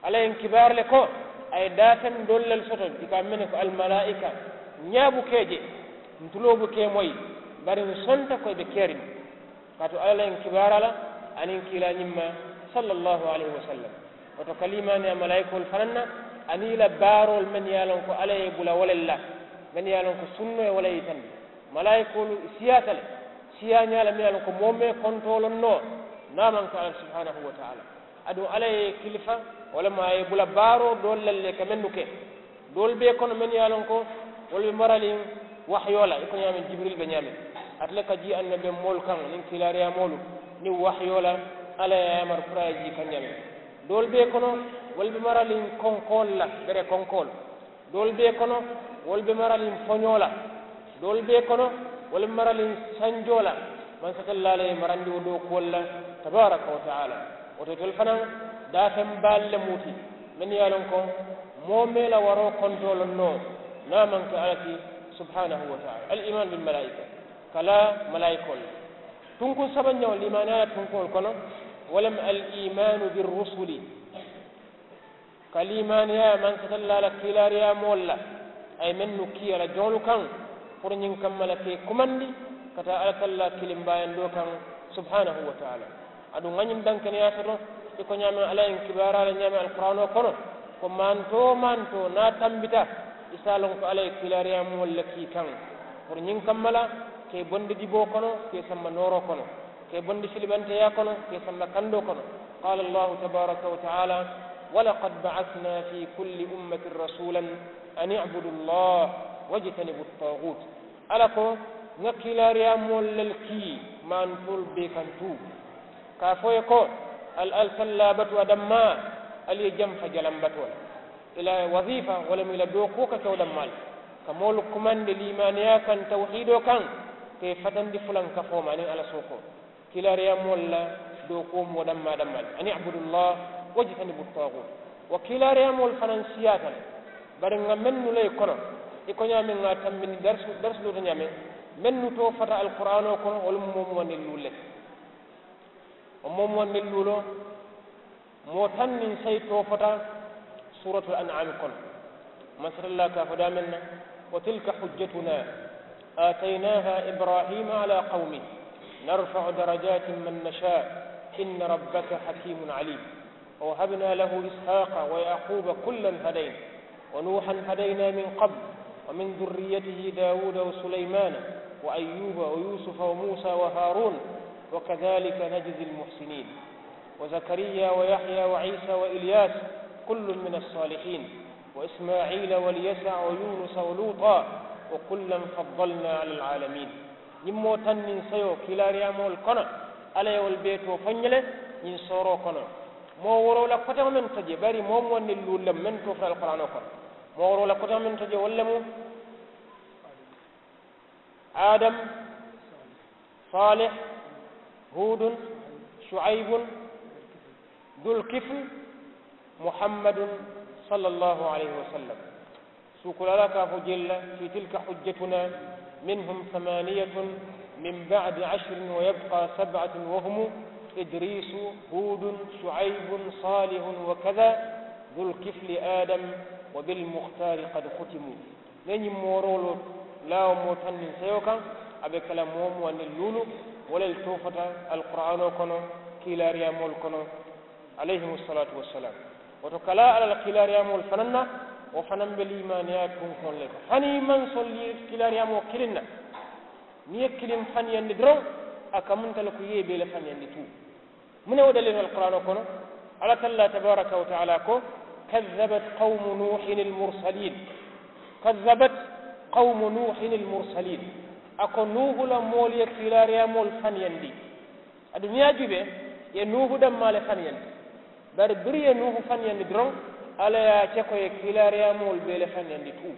Alla ye n kibaari le ko a ye daafeŋ doolu le soto i ka a mene ko almalaayika. Ñaa buka i je n tuloo buka i moyi bari n sonta ko i be keeriŋ. Kaatu alla le ye n kibaari a la aniŋ kiilaa ñiŋ ma sallallaahu alayhi wa sallam. Wo to ka liimaaniyaa malaayikoolu fanaa na aniŋ i la baaroolu mennu ye a loŋ ko alla ye i bula wo le la mennu ye a loŋ ko sunnoo ye wo le yitandi. Malaayikoolu i siyaata le siyaañaa le mennu ye a loŋ ko moo maŋ i kontooloŋ noo niŋ a maŋ ke alla subhaanahu wa taala. Aduŋ alla ye i kilifa wo le mu a ye i bula baaroo doolu le la i ka mennu ke. Doolu be i kono mennu ye a loŋ ko wolu be maraliŋ wahiyoo la i ko ñaameŋ jibiriili be ñaameŋ. Ate le ka jii annabiyomoolu kaŋ niŋ kiilaariyaamoolu niŋ wahiyoo la. Alla ye a yaamari puru a ye jii kaŋ ñaameŋ. Doolu be i kono wolu be maraliŋ konkoolu la bere konkoolu. Doolu be i kono wolu be maraliŋ foñoo la. Doolu bee kono, wo le maraliŋ sanjoo la, mansatallaa la ye marandi wo dookuwolu la, tabaaraka wa taala. Wo to itelu fanaa daafeŋ baalu le mu ti, mennu ye a loŋ ko moo mee la waroo kontoo loŋ noo, niŋ a maŋ ke alla ti, subhaanahu wa taala. Al iimaanu bil malaayika, ka laa malaayikoolu la. Tunkuŋ sabanjaŋo, liimaaniyaa la tunkuŋolu kono, wo le mu al iimaanu birrusuli. Ka liimaaniyaa mansatallaa la kiilaariyaamoolu la, a ye mennu kii a la joŋolu kaŋ, puru ñiŋ kamma la ka i kumandi ka taa alla tallaa kiliŋ baayandoo kaŋ, subhaanahu wa taala. Aduŋ ŋa ñiŋ dankeneyaa soto, i ko ñaameŋ alla ye ñiŋ kibaaraa la ñaameŋ alquraanoo kono, ko mantoo mantoo niŋ a tambita, i si a loŋ ko alla ye kiilaariyaamoolu le kii kaŋ, puru ñiŋ kamma la ka i bondi diboo kono, ka i samba nooroo kono, ka i bondi filibanteyaa kono, ka i samba kandoo kono. Qaala allahu tabaaraka wa taala, walaqad ba'asnaa fii kulli ummatin rasuulan an i'budu llaha wajtanibu ttaaguut. Alla ko, ŋa kiilaariyaamoolu le kii mantoolu bee kaŋ tuu, ka a fo i ye ko, ali ali tallaa batu a dammaa, ali ye jamfa jalambatoo la. I la waziifa wo le mu i la dookuwo ka ke wo dammaa le, ka moolu kumandi liimaaniyaa kaŋ, tawuhiidoo kaŋ, ka i fatandi fulankafoo ma aniŋ alla sookoo. Kiilaariyaamoolu la dookuwo mu wo dammaa dammaa le, an i'budu llaha wajtanibu ttaaguut. Wo kiilaariyaamoolu fanaa siyaata le, bari ŋa mennu la i kono, i ko ñaameŋ ŋa a tambindi darisu darisu doo to ñaameŋ, mennu too fata alquraanoo kono, wolu mu moo muwandi luulu le ti. Wo moo muwandi luuloo, moo taŋ niŋ sayi too fata suuratul an'aami kono. Mansatallaa ka a fo daameŋ na, wa tilka hujjatunaa aataynaahaa ibraahiima alaa qawmihi, narfa'u darajaatin man nashaa'u, inna rabbaka hakiimun aliim. Wa wahabnaa lahu ishaaqa wa ya'quuba kullan hadaynaa, wa nuuhan hadaynaa min qablu, wa min durriyatihi daawuuda wa sulaymaana, wa ayyuuba wa yuusufa wa muusaa wa haaruuna, wa kadaalika najzil muhsiniin. وزكريا ويحيى وعيسى وإلياس كل من الصالحين وإسماعيل واليسع ويونس ولوطا وكلا فضلنا على العالمين. Ñiŋ moo taŋ niŋ sayoo kiilaariyaamoolu kono, Alla ye wolu bee too fo n ye le ñiŋ sooroo kono. Moo wooroo la koteŋo meŋ to jee, bari moo muwandi luulu le mu meŋ too fo alquraanoo kono. Moo wooroo la koteŋo meŋ to jee, wolu le mu Aadama, Saalih, Huudun, Suwayibun, Dulkifli, Muhammadun, sallallaahu alayhi wa sallam. Suukulaa la ka a fo jee le, fii tilka hujjatunaa, minhum samaaniyatun min ba'di ashrin wa yabqaa sab'atun wa humu Idriisu, Huudun, Suwayibun, Saalihun wa kazaa Dulkifli Aadama wa bil muxtaari qad xutimu. Niŋ ñiŋ mooroolu laa wo moo taŋ niŋ seyo kaŋ, a be ke la moo muwandi luulu, wo le too fota alquraanoo kono, kiilaariyaamoolu kono, alayhimu salaatu wassalaam. Wo to, ka laa Alla la kiilaariyaamoolu fanaa na, wo fanaa be liimaaniyaa tunkoŋo le to. Hani i maŋ soŋ kiilaariyaamoo kiliŋ na, niŋ i ye kiliŋ faniyandi doroŋ, a kamunta le ko i ye i bee le faniyandi tuu. Muŋ ne wo daliilu alquraanoo kono? Alla tallaa tabaaraka wa taalaa ko, kazzabat qawmu nuuhin almursaliin. Kazzabat qawmu nuuhin almursaliin. A ko nuuhu la moolu ye kiilaariyaamoolu faniyandi. Aduŋ niŋ i ye a juubee, i ye nuuhu dammaa le faniyandi. Bari biriŋ i ye nuuhu faniyandi doroŋ, alla ye a ke ko i ye kiilaariyaamoolu bee le faniyandi tuu.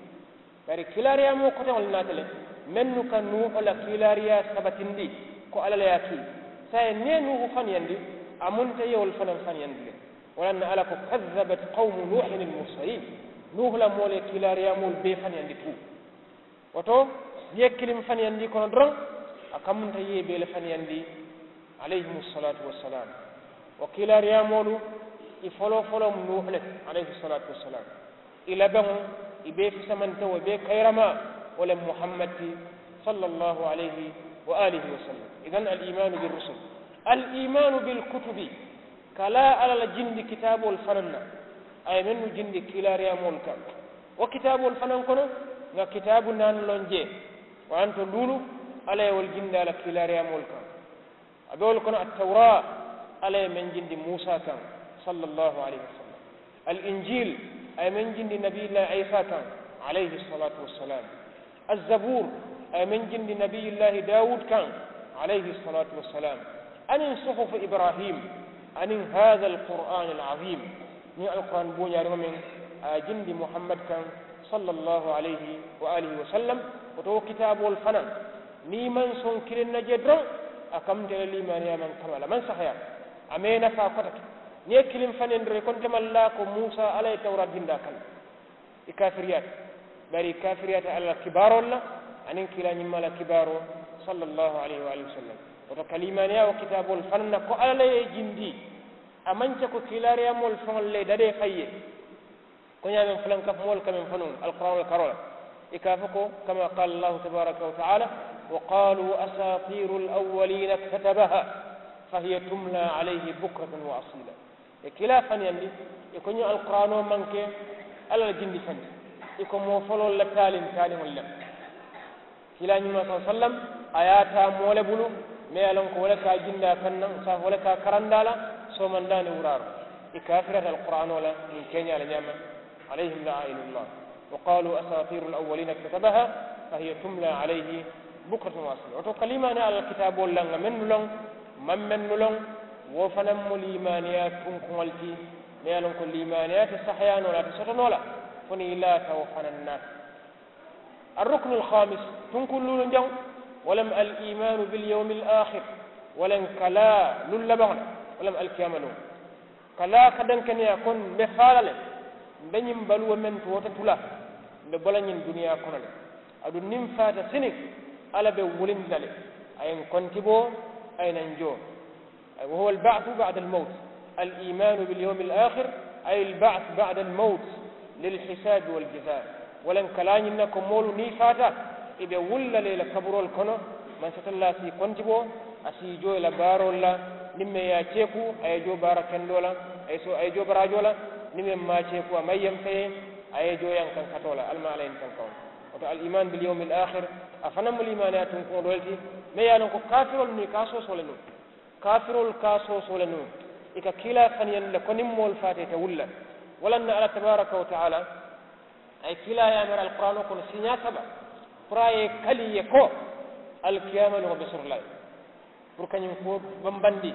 Bari kiilaariyaamoo koteŋolu naata le, mennu ka nuuhu la kiilaariyaa sabatindi ko alla le ye a kii. Saayiŋ niŋ i ye nuuhu faniyandi, a munta i ye wolu fanaŋ faniyandi le. Wo le ye a tinna alla ko, kazzabat qawmu nuuhin almursaliin. Nuuhu la moolu ye kiilaariyaamoolu bee faniyandi tuu. Wo to, niŋ i ye kiliŋ faniyandi i kono doroŋ, a kamunta i ye i bee le faniyandi, alayhimu salaatu wassalaam. Wo kiilaariyaamoolu, i foloo foloo mu nuuhu le ti, alayhi salaatu wassalaam. I labaŋo, i bee fisamantewo, i bee kayiramaa, wo le mu muhammad ti, sallallaahu alayhi wa aalihi wa sallam. Idan al iimaanu birrusul, al iimaanu bilkutubi, ka laa alla la jindi kitaaboolu fanaa na, a ye mennu jindi kiilaariyaamoolu kaŋ. Wo kitaaboolu fanaa kono, ŋa kitaabu naani loŋ jee, wo ye a tinna luulu, alla ye wolu jindi a la kiilaariyaamoolu kaŋ. A be wolu kono, attawraa, alla ye meŋ jindi muusaa kaŋ, sallallaahu alayhi wasallam. Al injiil, a ye meŋ jindi nabiyullaahi iisaa kaŋ, alayhi salaatu wassalaam. Azzabuur, a ye meŋ jindi nabiyullaahi daawuud kaŋ, alayhi salaatu wassalaam. Aniŋ suhufu ibraahiim, aniŋ haazal quraanil aziim, ñiŋ alquraan buuñaariŋo meŋ, a ye a jindi muhammad kaŋ, sallallaahu alayhi wa aalihi wasallam. Wo to wo kitaaboolu fanaŋ, niŋ i maŋ soŋ kiliŋ na jee doroŋ, a kamuta i la liimaaniyaa maŋ kamala maŋ sahayaa. A maŋ i nafaa koteke. Niŋ i ye kiliŋ fanaŋ doroŋ i ko nte maŋ laa ko muusa alla ye tawuraata jindi a kaŋ. I kaafiriyaata. Bari i kaafiriyaata alla la kibaaroolu la, aniŋ kiilaa ñimmaa la kibaaroo, sallallaahu alayhi wa aalihi wa sallam. Wo to ka liimaaniyaa wo kitaaboolu fanaŋ na ko alla le ye i jindi. A maŋ ke ko kiilaariyaamoolu faŋolu le dadee fayi ye. Ko ñaameŋ fulankafu moolu ka meŋ fo nuŋ alqur'aanoo la karoo la, i ka a fo ko kama qaala allaahu tabaaraka wa taala, wa qaaluu asaatiiru alawwaliina iktatabaha, fa hiya tumlaa alayhi bukratan wa asiila. Ye kiilaa faniyandi, i ko ñiŋ alqur'aanoo maŋ ke alla la jindi feŋ ti. I ko moo foloolu la taaliŋ taaliŋolu le mu. Kiilaa ñimmaa sallallaahu alayhi wa sallam, a ye a taa moo le bulu, meŋ ye a loŋ ko wo le ka a jindi a kaŋ naŋ saayiŋ wo le ka a karandi a la, soomandaa niŋ wuraaroo. I kaafirata alqur'aanoo la ñiŋ keeñaa la ñaama. Alayhim la'aa'inullah. Wa qaaluu asaatiiru alawwaliina iktatabaha, fa hiya tumlaa alayhi bukratan wa asiila. Wo to ka liimaaniyaa alla la kitaaboolu la ŋa mennu loŋ, maŋ mennu loŋ, wo fanaŋ mu liimaaniyaa tunkuŋolu ti. Meŋ ye a loŋ ko liimaaniyaa te sahayaa noo la a te soto noo la, fo niŋ i laata wo fanaŋ na. Arruknu alkhamis, tunkuŋ luulu jaŋ, wo le mu aliimaanu biliyawmi alaakhir. Wo le mu ka laa luŋ labaŋo la, wo le mu alikiyaama luŋo. Ka laa ka dankeneyaa ko mbe faa la le, mbe ñiŋ baluwo meŋ to wo te tu la, mbe bo la ñiŋ duniyaa kono le. Aduŋ niŋ mfaata siniŋ, alla be nwulinndi la le. A ye nkonti bo, a ye naŋ joo. Wa huwa alba'su ba'da almawt. Aliimaanu biliyawmi alaakhir, ay alba'su ba'da almawt, lilhisaabi waljazaa. Wo le mu ka laa ñiŋ na ko moolu niŋ i faata, i be wuli la le i la kaburoolu kono. Mansatallaa si i konti bo, a si i joo i la baaroolu la. Niŋ meŋ ye a ceeku, a ye joo baara kendoo la. A ye so a ye joo baraajoo la. Niŋ meŋ maŋ a ceeku, a maŋ yempe ye, a ye joo yankankatoo la. Alla maŋ alla ye ñiŋ tankaŋo. Wo to aliimaanu biliyawmi alaakhir, a fanaŋ mu liimaaniyaa tunkuŋo doo le ti. Meŋ ye a loŋ ko kaafiroolu niŋ i ka a soosoo le nuŋ. Kaafiroolu ka a soosoo le nuŋ. I ka kiilaa faniyandi le ko niŋ moolu faata i te wuli la. Wo le na alla tabaaraka wa taala, a ye kiilaa yaamari alquraanoo kono siiñaa saba, puru a ye i kali i ye ko, alikiyaama luŋo be soto la le. Puru ka ñiŋ kuwo bambandi,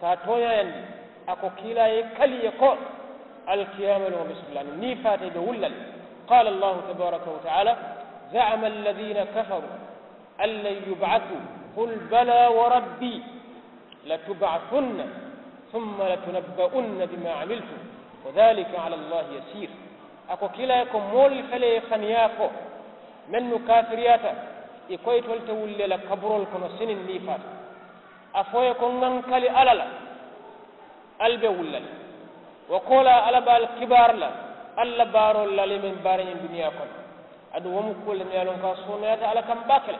ka a tooñaayandi. A ko kiilaa ye i kali i ye ko, alikiyaama luŋo be soto la le, niŋ i faata i be wuli la le. Qaala allaahu tabaaraka wa taala, za'ama alladiina kafaruu, an lan yub'asuu, qul balaa wa rabbii, latub'asunna, summa latunabba'unna bimaa 'amiltum, wa dhaalika 'alallaahi yasiir. A ko kiilaa ye ko moolu fele ye faniyaa fo, mennu kaafiriyaata, i ko itolu te wuli le la kaburoolu kono siniŋ niŋ i faata. A fo i ye ko ŋa n kali alla la, ali be wuli la le. Wo koolaa alla be ali kibaari la, ali la baaroolu la ali ye meŋ baara ñiŋ duniyaa kono. Aduŋ wo mu kuwo le meŋ ye a loŋ ko a sooneyaata alla kaŋ baake le.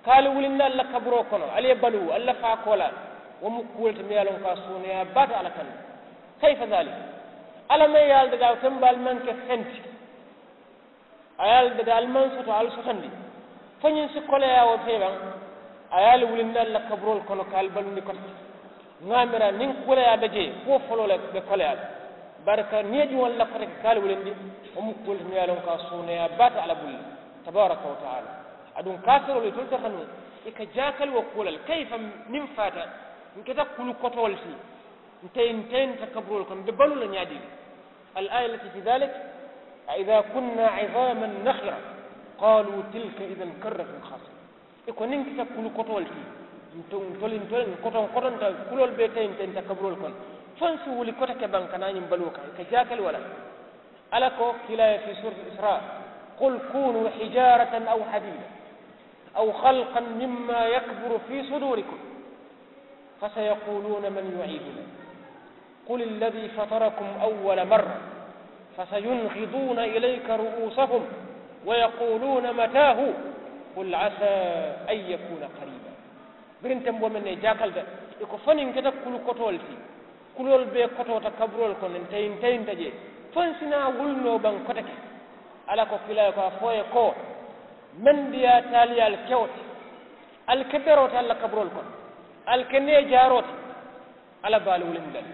Ka ali wulinna ali la kaburoo kono ali ye baluu ali la faa koolaa, wo mu kuwo le ti meŋ ye a loŋ ko a sooneyaa baata alla kaŋ. Kayifa daalik? Alla maŋ ye ali dadaa wo tembaali maŋ ke feŋ ti. A ye ali dadaa ali maŋ soto ali sotondi. Fo ñiŋ si koleyaa wo fee baŋ. A ye ali wulinna ali la kaburoolu kono ka ali balundi koto ti. Ŋa a mira niŋ koleyaa be jee kuwo foloo le be koleyaa la. Bari ka niŋ ye juŋolu la kote ke ka ali wulindi, wo mu kuwo le ti meŋ ye a loŋ ko a sooneeyaa baata alla bulu le, tabaaraka wa taala. Aduŋ kaafiroolu itolu tarata nuŋ, i ka jaakali wo kuwo la le kayifa? Niŋ faata, n keta kulu kotoo le ti. Nte nte nte kaburoolu kono mbe baluu la ñaadii le? Al aaya lati fi daalik. A idaa kunnaa izaaman nakhira, qaaluu tilka izan karratun khaasira. I ko niŋ kita kulu kotoo le ti, ntolu ntolu kotoŋ kotonta kuloolu bee tayinta inta kaburoolu kono. Fo n si wuli kote ke baŋ ka naa ñiŋ baluwo kaŋ i ka jaakali wala? Alla ko kiilaa ye fi suurati israa, qul kuunuu hijaaratan aw hadiidan, aw khalqan mimmaa yakburu fi suduurikum, fasayaquuluuna man yu'iidunaa, qul alladhii fatarakum awwala marra, fasayunqiduuna ilayka ru'uusahum, wayaquuluuna mataahu, qul asaa an yakuuna qariiba. Biriŋ temboo meŋ ne i jaakalita, i ko fo niŋ keta kulu kotoo le ti. Kuloolu bee kotoota kaburoolu kono nte nte nte jee, fo n si naa wuli noo baŋ kote ke? Alla ko kiilaa ye ko a fo i ye ko, meŋ diyaata ali ye ali ke wo ti. Ali ke beroo ti ali la kaburoolu kono, ali ke neejaaroo ti. Alla be ali wulindi la le.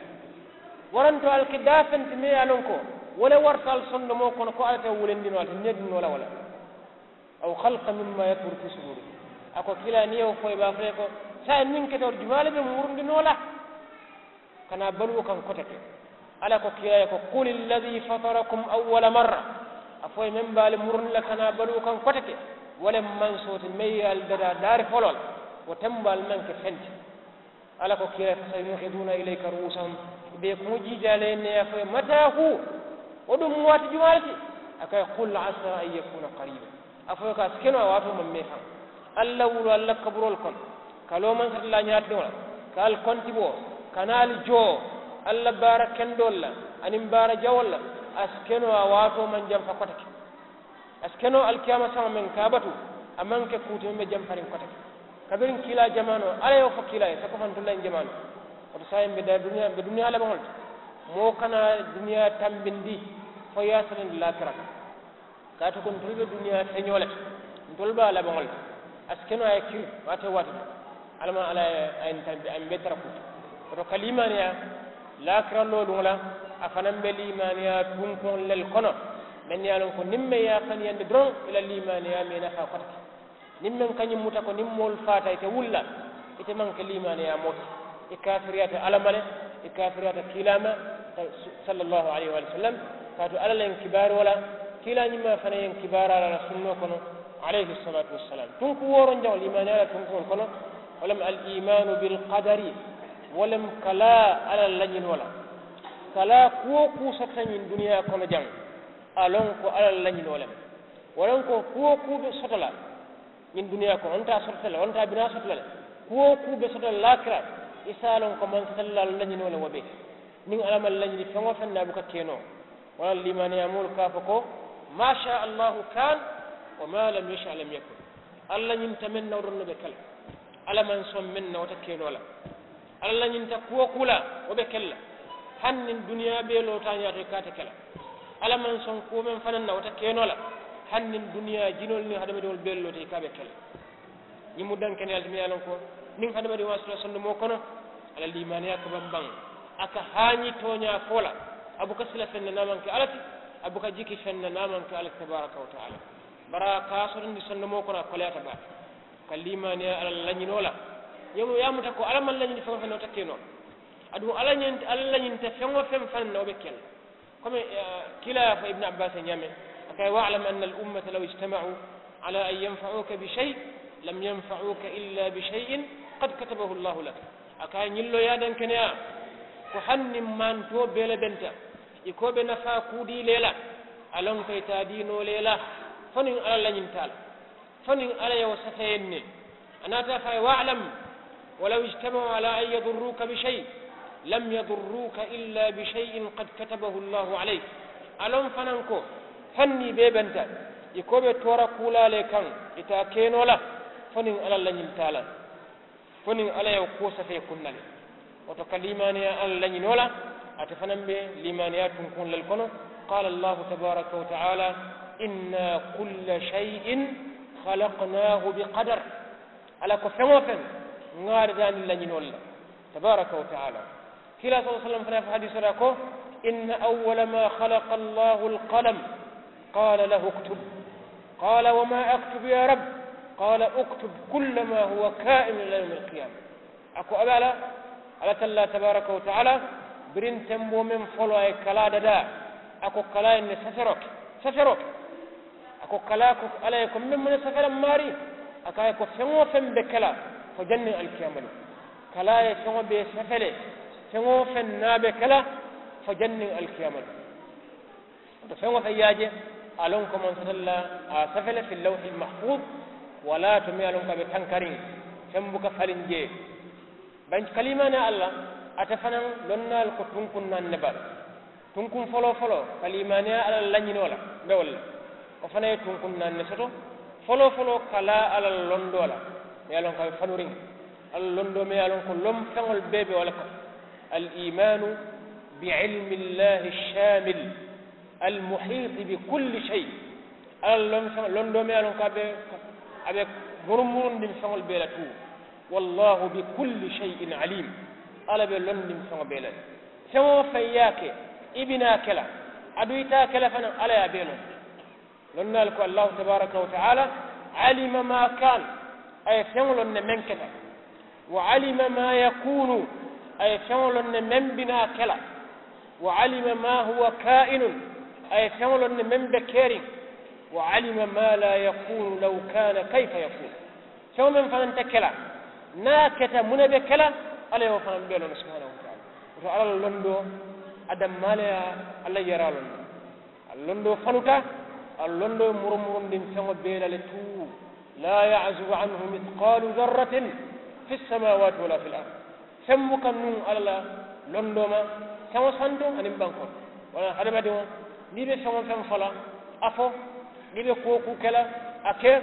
Waranto ali ke daafeŋ ti meŋ ye a loŋ ko wo le warata ali sondomoo kono ko alla te wulindi noo la te needi noo la wo la. Aw khalqan mimmaa yakburu fi suduurikum. A ko kiilaa niŋ i ye wo fo i be a fo i ye ko, saayiŋ niŋ kete wo ti jumaa le be murundi noo la? Ka naa baluwo kaŋ kote ke. Alla ko kiilaa ye ko, qul alladhii fatarakum awwala marra. A fo i ye meŋ be ali murundi la ka naa baluwo kaŋ kote ke. Wo le maŋ sooti meŋ ye ali dadaa daari foloo la, wo tembo ali maŋ ke feŋ ti. Alla ko kiila ye, fasayuŋhiduuna ilayka ru'uusahum, i be i kuŋo jiijaa la i ye ne ye a fo i ye mataa huu? Wo duŋ mu waati jumaa le ti? A ko a ye, qul asaa an yakuuna qariiba. A fo i ye ko a si ke noo a waatoo maŋ mee faŋ. Ali la wuloo ali la kaburoolu kono, ka loo mansatallaa ñaatiliŋo la, ka ali kontiboo, ka naa ali joo, ali la baara kendoolu la aniŋ baara jawoolu la. A si ke noo a waatoo maŋ jamfa koteke. A si ke noo alikiyaama saŋo meŋ ka a batu, a maŋ ke kuu ti meŋ be jamfariŋ koteke. Kabiriŋ kiilaa jamaanoo alla ye wo fo kiilaa ye sako fantulayiŋ jamaanoo. Wo to saayiŋ mbe duniyaa labaŋo le ti. Moo kana duniyaa tambindi fo i ye a selendi laakira kaŋ. Kaatu ko ntolu be duniyaa señoo le ti, ntolu be a labaŋo le ti. A si ke noo a ye kiri waati wo waati de. Alla maŋ alla ye a ye ntambi a ye mbe tara kuu ti. Wo to ka liimaaniyaa laakira looluŋo la, a fanaŋ be liimaaniyaa tunkuŋo le kono. Meŋ ye a loŋ ko niŋ meŋ ye a faniyandi doroŋ i la liimaaniyaa mee nafaa koteke. Niŋ meŋ ka ñiŋ muta ko niŋ moolu faata ite wulula, ite maŋ ke liimaaniyaa moo ti. I kaafiriyaata alla ma le, i kaafiriyaata kiilaa ma, sallallaahu alayhi wa sallam. Kaatu alla la ñiŋ kibaaroo la, kiilaa ñiŋ maa fanaŋ ye ñiŋ kibaaraa la a la sunnoo kono, alayhi salaatu wasalaam. Tunku wooroŋ jaŋo liimaaniyaa la tunkuŋolu kono, wo le mu al iimaanu bil qadari. Wo le mu ka laa alla la lañinoo la. Ka laa kuwo kuu sotota ñiŋ duniyaa kono jaŋ, a loŋ ko alla la lañinoo le mu. Wo loŋ ko kuwo kuu be soto la ñiŋ duniyaa kono wo nte a sotota le wo nte a bi naa sotota le. Kuwo kuu be soto la laakira, i si a loŋ ko mansatallaalu lañinoo le wo be. Niŋ alla maŋ lañini feŋ wo feŋ na a buka keenoo. Wo la liimaaniyaa moolu ka a fo ko, maa shaa allaahu kaan, wa maa lam yasha lam yakun. Alla ñinta meŋ na wo doroŋ ne be ke la. Alla maŋ soŋ meŋ na wo te keenoo la. Alla la ñinta kuwo kuu la wo be ke la. Hani niŋ duniyaa bee loota a ñaato i ka a te ke la. Alla maŋ soŋ kuwo meŋ fanaŋ na wo te keenoo la. Hani niŋ duniyaa jinoolu niŋ hadamadiŋolu bee loota i ka a be ke la. Ñiŋ mu dankeneyaa le ti meŋ ye a loŋ ko niŋ hadamadiŋo a sota sondomoo kono, a la liimaaniyaa ka baŋ baŋ. A ka haañi tooñaa fo la. A buka sila feŋ na niŋ a maŋ ke alla ti. A buka jiki feŋ na niŋ a maŋ ke alla ti tabaaraka wa taala. Bari a ka a sotondi sondomoo kono a koleyaata baake. Ka liimaaniyaa alla la lañinoo la. Ñiŋ mu ye a muta ko alla maŋ lañini feŋ wo feŋ na wo te ke noo la. Aduŋ alla ñinta feŋ wo feŋ fanaŋ na wo be ke la. Komi kiilaa ye a fo ibnu abbaasi ye ñaameŋ, a ko a ye, wa'lam anna al ummata law ijtama'u ala an yanfa'uuka bi shay, lam yanfa'uuka illa bi shay'in qad katabahu allahu lak. A ko a ye ñiŋ loo ye a dankeneyaa ko hani niŋ maantoo bee le benta i ko be nafaa kuu dii le la, a loŋ ko i te a dii noo le la fo niŋ alla lañinta a la. Fo niŋ alla ye wo safeeyaŋ ne. A naata a fo a ye, wa'lam, walaw ijtama'u ala an yadurruuka bi shay, lam yadurruuka illa bi shay'in qad katabahu allahu alayk. A loŋ fanaŋ ko hani niŋ i bee benta i ko be toora kuu la le kaŋ, i te a ke noo la fo niŋ alla lañinta a la. Fo niŋ alla ye wo kuwo safee kunna le. Wo to ka liimaaniyaa alla lañinoo la, ate fanaŋ be liimaaniyaa tunkuŋolu le kono. Qaala allahu tabaaraka wa taala, inna kulla shay'in khalaqnaahu bi qadar. Alla ko feŋ-wo-feŋ ŋaarita a niŋ lañinoolu le tabaaraka wa taala. Kiilaa sallallaahu alayhi wa sallam fanaa ye a fo hadiisoo to a ko, inna awwala maa khalaqa allahu alqalam, qaala lahu uktub. Qaala wa maa aktub yaa rab? Qaala uktub kulla maa huwa kaa'inun ilaa yawmi alqiyaama. A ko a be a la alla tallaa tabaaraka wa taala, biriŋ temboo meŋ foloo a ye kalaa dadaa, a ko kalaa ye ne saferoo ke, saferoo ke. A ko kalaa ko alla ye ko meŋ mu ne safela maarii? A ko a ye ko feŋ-wo-feŋ be ke la fo janniŋ alikiyaama loŋ. Kalaa ye feŋo bee safele, feŋ-wo-feŋ naa be ke la fo janniŋ alikiyaama loŋ. Wo to feŋ-wo-feŋ ye a je, a loŋ ko maŋ satalla a safele fi lawhi almahfuuz. Walaa to meŋ ye a loŋ ko a be tankariŋ, feŋ buka faliŋ jee. Baŋ kaliimaane alla, ate fanaŋ lonnaalu ko tunkuŋ naani ne baa. Tunkuŋ foloo foloo kaliimaaneyaa alla la lañinoo la, mbe wo le la. Wo fanaŋ ye tunkuŋ naani ne soto. Foloo foloo kalaa alla la londoo la, meŋ ye a loŋ ko a be fanuriŋ. Alla londoo meŋ ye a loŋ ko lomfeŋolu bee be wo le kono. Al iimaanu bi ilmi llaahi alshaamil almuhiiti bi kulli shay. Alla la lomfeŋ londoo meŋ ye a loŋ ko a be a be murumurundiŋ feŋolu bee la tuu. Wallaahu bi kulli shayin aliim. Alla be londiŋ feŋo bee la le. Feŋ-wo-feŋ ye a ke, i bi naa ke la, aduŋ i te a ke la fanaŋ alla ye a bee loŋ. Lonnaalu ko allaahu tabaaraka wa taala, alima maa kaan, a ye feŋo loŋ ne meŋ keta. Wa alima maa yakuunu, a ye feŋo loŋ ne meŋ bi naa ke la. Wa alima maa huwa kaa'inun, a ye feŋo loŋ ne meŋ be keriŋ. وعلم ما لا يكون لو كان كيف يكون. Feŋo meŋ fanaŋ te ke la, niŋ a keta muŋ ne be ke la? Alla ye wo fanaŋ bee loŋ ne subhanahu wa taala. Woto alla la londoo, a dammaa le ye a la yaraa loŋ ne. A la londoo fanuta. A la londoo ye murumurundiŋ feŋo bee la le tuu. لا يعزب عنه مثقال ذرة في السماوات ولا في الأرض. Feŋ buka nuŋ alla la londoo ma, feŋo santo aniŋ bankoo. Wala hadamadiŋo, niŋ i be feŋ wo feŋ fo la, a fo. Niŋ i be kuwo kuu ke la, a ke.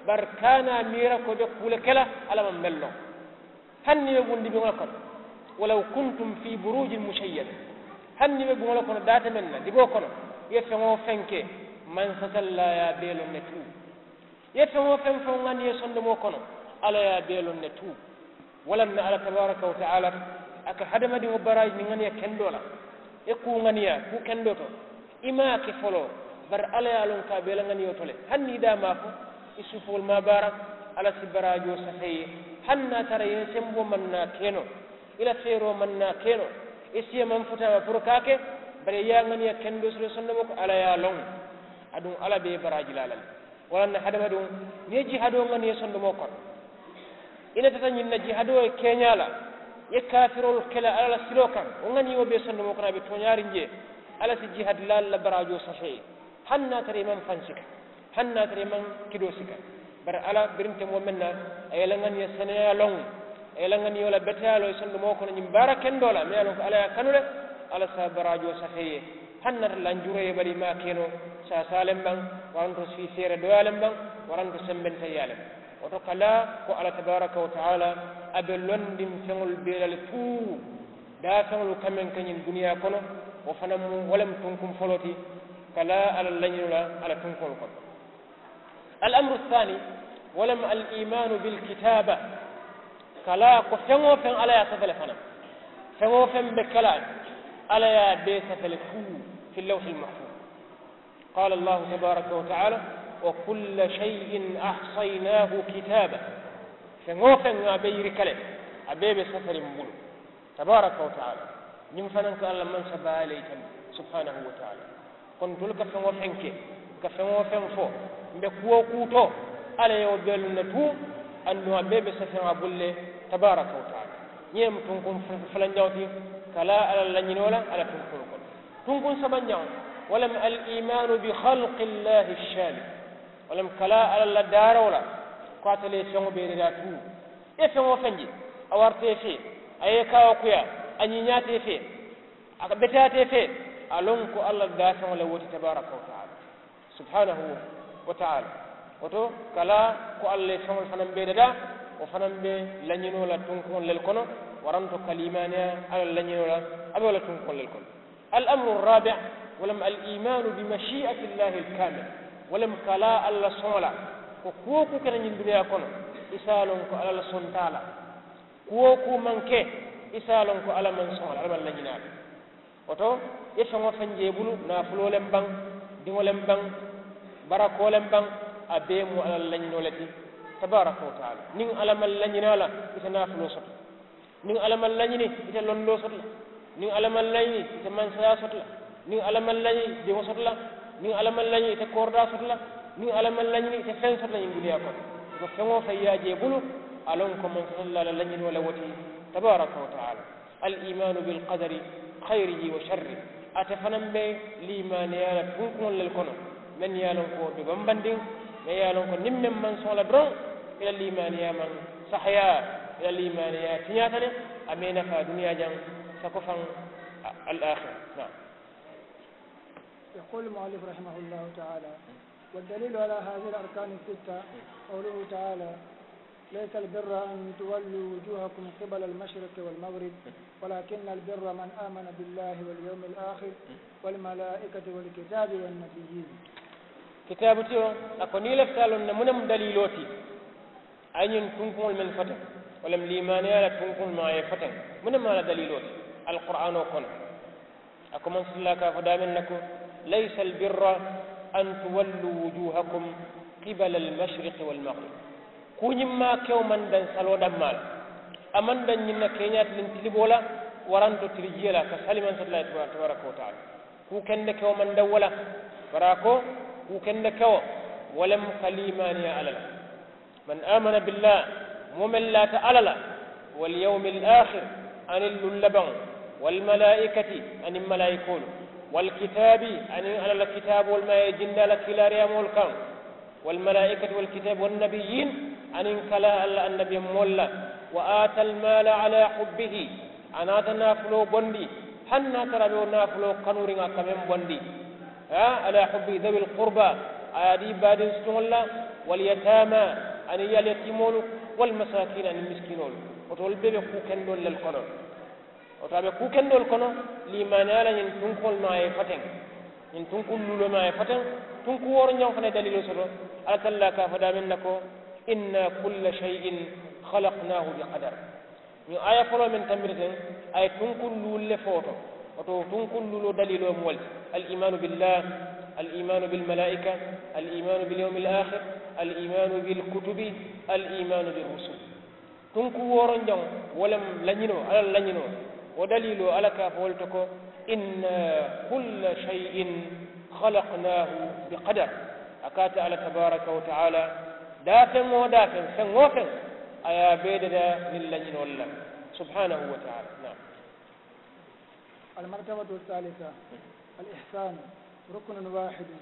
Bari kana a miira ko i be kuu le ke la alla maŋ meŋ loŋ. Hani niŋ i be bundibiŋo le kono, ولو كنتم في بروج مشيدة. Hani niŋ i be buŋo le kono daate meŋ na diboo kono, i ye feŋ wo feŋ ke, mansatallaa ye a bee loŋ ne tuu. I ye feŋ wo feŋ feŋ ŋani i ye sondomoo kono, alla ye a bee loŋ ne tuu. Wo le ye a tinna alla tabaaraka wa taala, a ka hadamadiŋo baraaji niŋ ŋaniya kendoo la. I ye kuu ŋaniya kuu kendoo to, i maŋ a ke foloo. Bari alla ye a loŋ ko a be i la ŋaniyo to le. Hani niŋ i daa maŋ a fo, i suufoolu maŋ a baara, alla si baraajoo safe i ye. Hani niŋ a tara i ye semboo maŋ naa ke noo, i la feeroo maŋ naa ke noo, i siyo maŋ futa a ma puru ka a ke. Bari i ye a ŋaniya kendoo soto i sondomoo kono, alla ye a loŋ. Aduŋ alla be i baraaji la a la le. Wo le ye a tinna hadamadiŋo, niŋ i ye jihaadoo ŋani i sondomoo kono, i natata ñiŋ na jihaadoo ye keeñaa la, i ye kaafiroolu ke la alla la siloo kaŋ, wo ŋani wo be i sondomoo kono a be tooñaariŋ jee. Alla si jihaadilaalu la baraajoo safe i ye. Hani niŋ a tara i maŋ fansika, hani niŋ a tara i maŋ kidoo sika. Bari alla birintemoo meŋ na, a ye i la ŋaniya seneyaa loŋ, a ye i la ŋaniyoo la beteyaa loŋ i sondomoo kono ñiŋ baara kendoo la meŋ ye a loŋ ko alla ye a kanu le. Alla si a baraajoo safe i ye. Hani niŋ a tara lanjuroo ye i bala i maŋ a ke noo, saasaa le mbaŋ, waranto sii seere dooyaa le mbaŋ, waranto sembenta yaa le mbaŋ. Wo to ka laa ko alla tabaaraka wa taala, a be londiŋ feŋolu bee la le tuu. Daafeŋolu ka meŋ ke ñiŋ duniyaa kono, wo fanaŋ mu wo le mu tunkuŋ foloo ti. Ka laa alla la lañinoo la alla tunkuŋolu kono. Al amuru saani, wo le mu al imaanu bil kitaaba. Ka laa ko feŋ-wo-feŋ alla ye a safe le fanaŋ. Feŋ-wo-feŋ be ke la, alla ye a bee safe le tuu, fi lawhi al mahfuuz. Qaala allahu tabaaraka wa taala, wa kulla shay'in ahsaynaahu kitaaba. Feŋ-wo-feŋ a be yirika le, a bee be saferiŋ bulu. Tabaaraka wa taala. Ñiŋ fanaŋ ka alla mansa baa le yitandi, subhaanahu wa taala. Kono ntolu ka feŋ-wo-feŋ ke, ka feŋ-wo-feŋ fo, mbe kuwo-kuu to, alla ye wo bee loŋ ne tuu. Aduŋ a bee be saferiŋ a bulu le. Tabaaraka wa taala. Ñiŋ mu tunkuŋ fulanjaŋo ti. Ka laa alla la lañinoo la alla tunkuŋo kono. Tunkuŋ sabanjaŋo, wo le mu al imaanu bi xalqi llaahi shaamil. Wo le mu ka laa alla la daaroo la, ko ate le ye feŋo bee dadaa tuu. I ye feŋ-wo-feŋ je, a warata i fee, a ye i kaawoo kuyaa, a ñiiñaata i fee, a ka beteyaata i fee, a loŋ ko alla la daafeŋo le wo ti tabaaraka wa taala, subhaanahu wa taala. Wo to ka laa ko alla ye feŋolu fanaŋ bee dadaa, wo fanaŋ be lañinoo la tunkuŋolu le kono. Waranto ka liimaaniyaa alla la lañinoo la, a be wo la tunkuŋolu le kono. Al amuru raabi, wo le mu al imaanu bi mashii'ati llaahi al kaamila. Wo le mu ka laa alla la soŋo la, ko kuwo-kuu keta ñiŋ duniyaa kono, i si a loŋ ko alla la sontaa la. Kuwo-kuu maŋ ke, i si a loŋ ko alla maŋ soŋo la, alla maŋ lañinaa la. Wo to, i ye feŋ-wo-feŋ je i bulu, naafuloo le mu baŋ, diŋo le mu baŋ, barakoo le mu baŋ, a bee mu alla la lañinoo le ti, tabaaraka wa taala. Niŋ alla maŋ lañinaa la, i te naafuloo soto. Niŋ alla maŋ lañini, i te londoo soto la. Niŋ alla maŋ lañini, i te mansayaa soto la. Niŋ alla maŋ lañini, i te diŋo soto la. Niŋ alla maŋ lañini, i te kooridaa soto la. Niŋ alla maŋ lañini, i te feŋ soto la ñiŋ duniyaa kono. Wo to feŋ-wo-feŋ ye a je i bulu, a loŋ ko mansatallaa la lañinoo le wo ti, tabaaraka wa taala. Al imaanu bil qadari, xayrihi wa sharrihi. Ate fanaŋ be liimaaniyaa la tunkuŋolu le kono, mennu ye a loŋ ko be bambandiŋ, mennu ye a loŋ ko niŋ meŋ maŋ soŋ a la doroŋ, i la liimaaniyaa maŋ sahayaa, i la liimaaniyaa tiñaata le. A maŋ i nafaa duniyaa jaŋ, sako faŋ, al aaxira. Naam. Yaquulu al mu'allif rahimahullahu taala, wa daliilu alaa haazihil arkaani sitta, qawluhu taala, ليس البر أن تولوا وجوهكم قبل المشرق والمغرب ولكن البر من آمن بالله واليوم الآخر والملائكة والكتاب والنبيين. Kitaabu tiyo, a ko niŋ i lafita a loŋ na muŋ ne mu daliiloo ti? A ye ñiŋ tunkuŋolu mennu fo teŋ, wo le mu liimaaniyaa la tunkuŋolu mu a ye fo teŋ. Muŋ ne mu a la daliiloo ti? Alquraanoo kono. A ko mansatallaa ka a fo daameŋ na ko, ليس البر أن تولوا وجوهكم قبل المشرق والمغرب. Kuu ñiŋ maa kewo maŋ daŋ saloo dammaa la. A maŋ daŋ ñiŋ na keeñaa tiliŋ tiliboo la, waranto tilijiyo la ka sali mansatallaa ye tabaaraka wa taala. Kuu kende kewo maŋ daŋ wo la. Bari a ko, kuu kende kewo Wo lemu ka liimaaniyaa alla la. Man amana billah, moo meŋ laata alla la, walyawmi alaakhir, aniŋ luŋ labaŋo, walmalaa'ikati, aniŋ malaayikoolu, walkitaabi, aniŋ alla la kitaaboolu meŋ a ye jindi a la kiilaariyaamoolu kaŋ, walmalaa'ikati walkitaabi wannabiyyiin, aniŋ ka laa alla annabiyomoolu la, wa aata almaala alaa hubbihi, a naata naafuloo bondi, hani niŋ a tara a be wo naafuloo kanuuriŋ a ka meŋ bondi, haa, alaa hubbihi, dawil qurbaa, a ye a dii baadiŋ sutuŋolu la, walyataamaa, aniŋ yaali yatiimoolu, walmasaakiina, aniŋ misikinoolu. Wo to wolu bee be kuu kendoolu le kono. Wo to a be kuu kendoolu kono. Liimaaniyaa la ñiŋ tunkuŋolu meŋ a ye fateŋ, ñiŋ tunkuŋ luuloo meŋ a ye fateŋ, tunkuŋ wooro ñaŋo fanaŋ ye daliiloo soto. Alla tallaa ka a fo daameŋ na ko, inna kulla shay'in khalaqnaahu bi qadar. Ñiŋ aaya foloo meŋ tambita teŋ, a ye tunkuŋ luulu le fo wo to. Wo to tunkuŋ luuloo daliiloo mu wo le ti, al iimaanu billah, al iimaanu bilmalaa'ika, al iimaanu bilyawmi alaakhir, al iimaanu bilkutubi, al iimaanu birrusul. Tunkuŋ wooro ñaŋo, wo lemu lañinoo, alla la lañinoo. Wo daliiloo alla ka a fo wo le to ko, inna kulla shay'in khalaqnaahu bi qadar. A ka a te alla tabaaraka wa taala, daafeŋ-wo-daafeŋ, feŋ-wo-feŋ, a ye a bee dadaa niŋ lañinoo le la, subhaanahu wa taala. Naam. Almartabatu saalisa, alihsaanu, rukunun waahidu,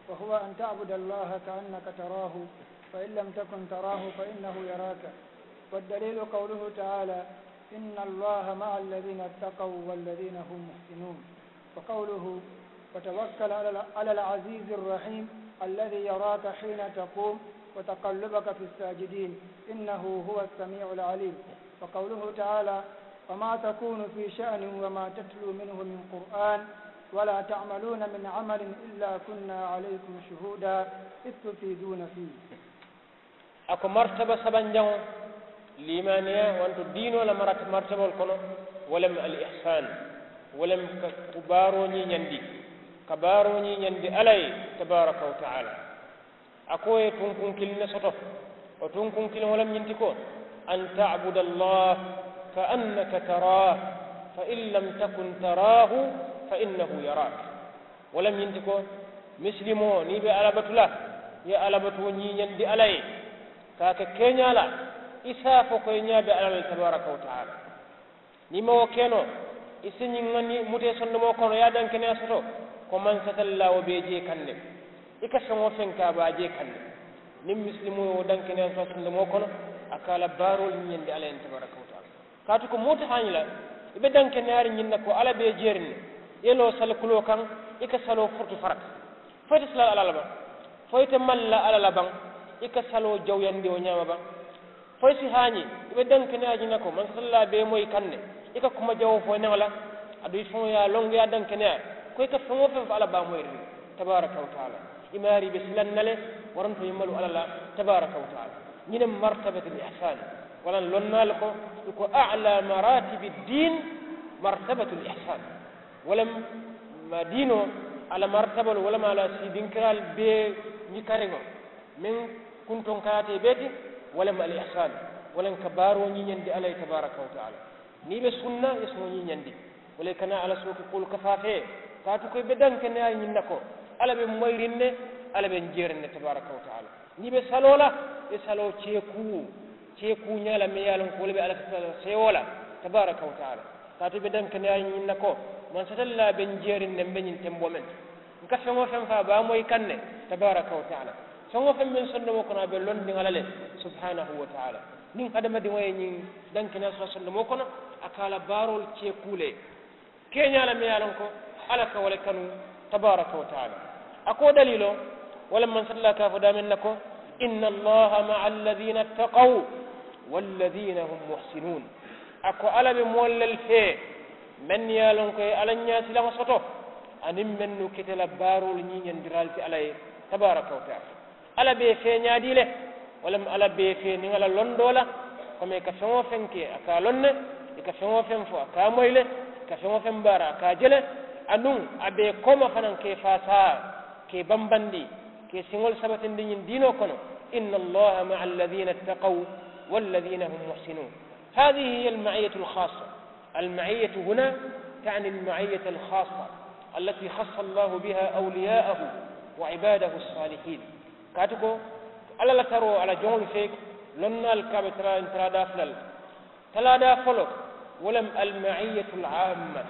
wa huwa an ta'buda allaha ka annaka taraahu, fa in lam takun taraahu fa innahu yaraaka. Waddaliilu qawluhu taala, inna allaha ma'a alladhiina ittaqaw walladhiina hum muhsinuun. Wa qawluhu, wa tawakkal ala al-aziizi arrahiim, alladhii yaraaka hiina taquum, wa taqallabaka fi assaajidiin, innahu huwa assamii'u alaliim. Wa qawluhu taala, wa maa takuunu fii sha'nin wa maa tatluu minhu min qur'aan, wa laa ta'maluuna min amalin illaa kunnaa alaykum shuhuudaa, iz tufiiduuna fiihi. A ko martaba sabanjaŋo, liimaaniyaa wanto diinoo la marata martaboolu kono, wo lemu al ihsaan, wo lemu ka ku baaroo ñiiñandi, ka baaroo ñiiñandi alla ye, tabaaraka wa taala. A ko i ye tunkuŋ kiliŋ ne soto. Wo tunkuŋ kiliŋo wo lemu ñiŋ ti ko, an ta'buda allaha ka annaka taraahu, fa in lam takun taraahu fa innahu yaraak. Wo lemu ñiŋ ti ko, misilimoo niŋ i be alla batu la, i ye alla batuwo ñiiñandi alla ye, ka a ke keeñaa la, i si a fo ko i ñaa be alla la le, tabaaraka wa taala. Niŋ i maŋ wo ke noo, i si ñiŋ ŋa niŋ mutee sondomoo kono i ye a dankeneyaa soto, ko mansatallaa wo be i jee kaŋ ne. I ka feŋ-wo-feŋ ke a be a jee kaŋ ne. Niŋ misilimoo ye wo dankeneyaa soto sondomoo kono, a ka a la baaroolu ñiiñandi alla ye, tabaaraka wa taala. Kaatu ko moo te haañi la, i be dankeneyaariŋ ñiŋ na ko alla be i jeeriŋ ne. I ye loo sali kuloo kaŋ, i ka saloo furutu farata. Fo i te sila la alla la baŋ, fo i te mali la alla la baŋ, i ka saloo jawuyandi wo ñaama baŋ. Fo i si haañi, i be dankeneyaa ñiŋ na ko mansatallaa be i moyi kaŋ ne. I ka kuma jawoo fo i neŋo la, aduŋ i faŋo ye a loŋ i ye a dankeneyaa, ko i ka feŋ-wo-feŋ fo alla be a moyiriŋ, tabaaraka wa taala. I maarii be silaŋ na le, waranto i malu alla la, tabaaraka wa taala. Ñiŋ ne mu martabatul ihsaan. Waraŋ lonnaalu ko, i ko a'laa maraatibi ddiin martabatul ihsaan. Wo lemu diinoo, a la martabaloo, wo lemu a la siidinkiraalu bee ñikariŋo, meŋ kuntoŋ kayaata i bee ti, wo lemu al ihsaan. Wo lemu ka baaroo ñiiñandi alla ye, tabaaraka wa taala. Niŋ i be sunna, i ye suŋo ñiiñandi. Wo le i kana alla sooki kuwolu kafaa fee, kaatu ko i be dankeneyaa ñiŋ na ko, alla be moyiriŋ ne, alla be n jeeriŋ ne, tabaaraka wa taala. Niŋ i be saloo la, i saloo ceekuu, ceekuu ñaa la meŋ ye a loŋ ko wo le be alla seewoo la, tabaaraka wa taala. Kaatu i be dankeneyaa ñiŋ na ko, mansatallaa be n jeeriŋ ne, m be ñiŋ temboo meŋ to, n ka feŋ-wo-feŋ fo a be a moyi kaŋ ne, tabaaraka wa taala. Feŋ-wo-feŋ meŋ sondomoo kono a be londiŋ alla le, subhaanahu wa taala. Niŋ hadamadiŋo ye ñiŋ dankeneyaa soto sondomoo kono, a ka a la baaroolu ceekuu le. Keeñaa la meŋ ye a loŋ ko alla ka wo le kanu, tabaaraka wa taala. A ko daliiloo, wo le mansatallaa ka a fo daameŋ na ko, inna allaha ma'a alladhiina ittaqaw walladhiina hum muhsinuun. A ko alla be moolu le fee, mennu ye a loŋ ko i ye alla ñaasilaŋo soto, aniŋ mennu keta la baaroolu ñiiñandiraalu ti alla ye, tabaaraka wa taala. Alla be i fee ñaadii le? Wo lemu alla be i fee niŋ a la londoo la, komi i ka feŋ-wo-feŋ ke a ka a loŋ ne, i ka feŋ-wo-feŋ fo a ka a moyi le, i ka feŋ-wo-feŋ baara a ka a je le. Aduŋ a be i kooma fanaŋ ka i faasaa, ka i bambandi, ka i siŋolu sabatindi ñiŋ diinoo kono. Inna allaha ma'a alladhiina ittaqaw walladhiina hum muhsinuun. Haadhihi hiya alma'iyyatu alxaassa. Alma'iyyatu huna ta'ni alma'iyyata alxaassa, allati xassa allahu biha awliyaa'ahu wa ibaadahu alsaalihiin. Kaatu ko alla la taroo a la joŋolu fee lonnaalu ka a be talaa ñiŋ talaadaa fula le la. Talaadaa foloo wo le mu almaiyatu l amma.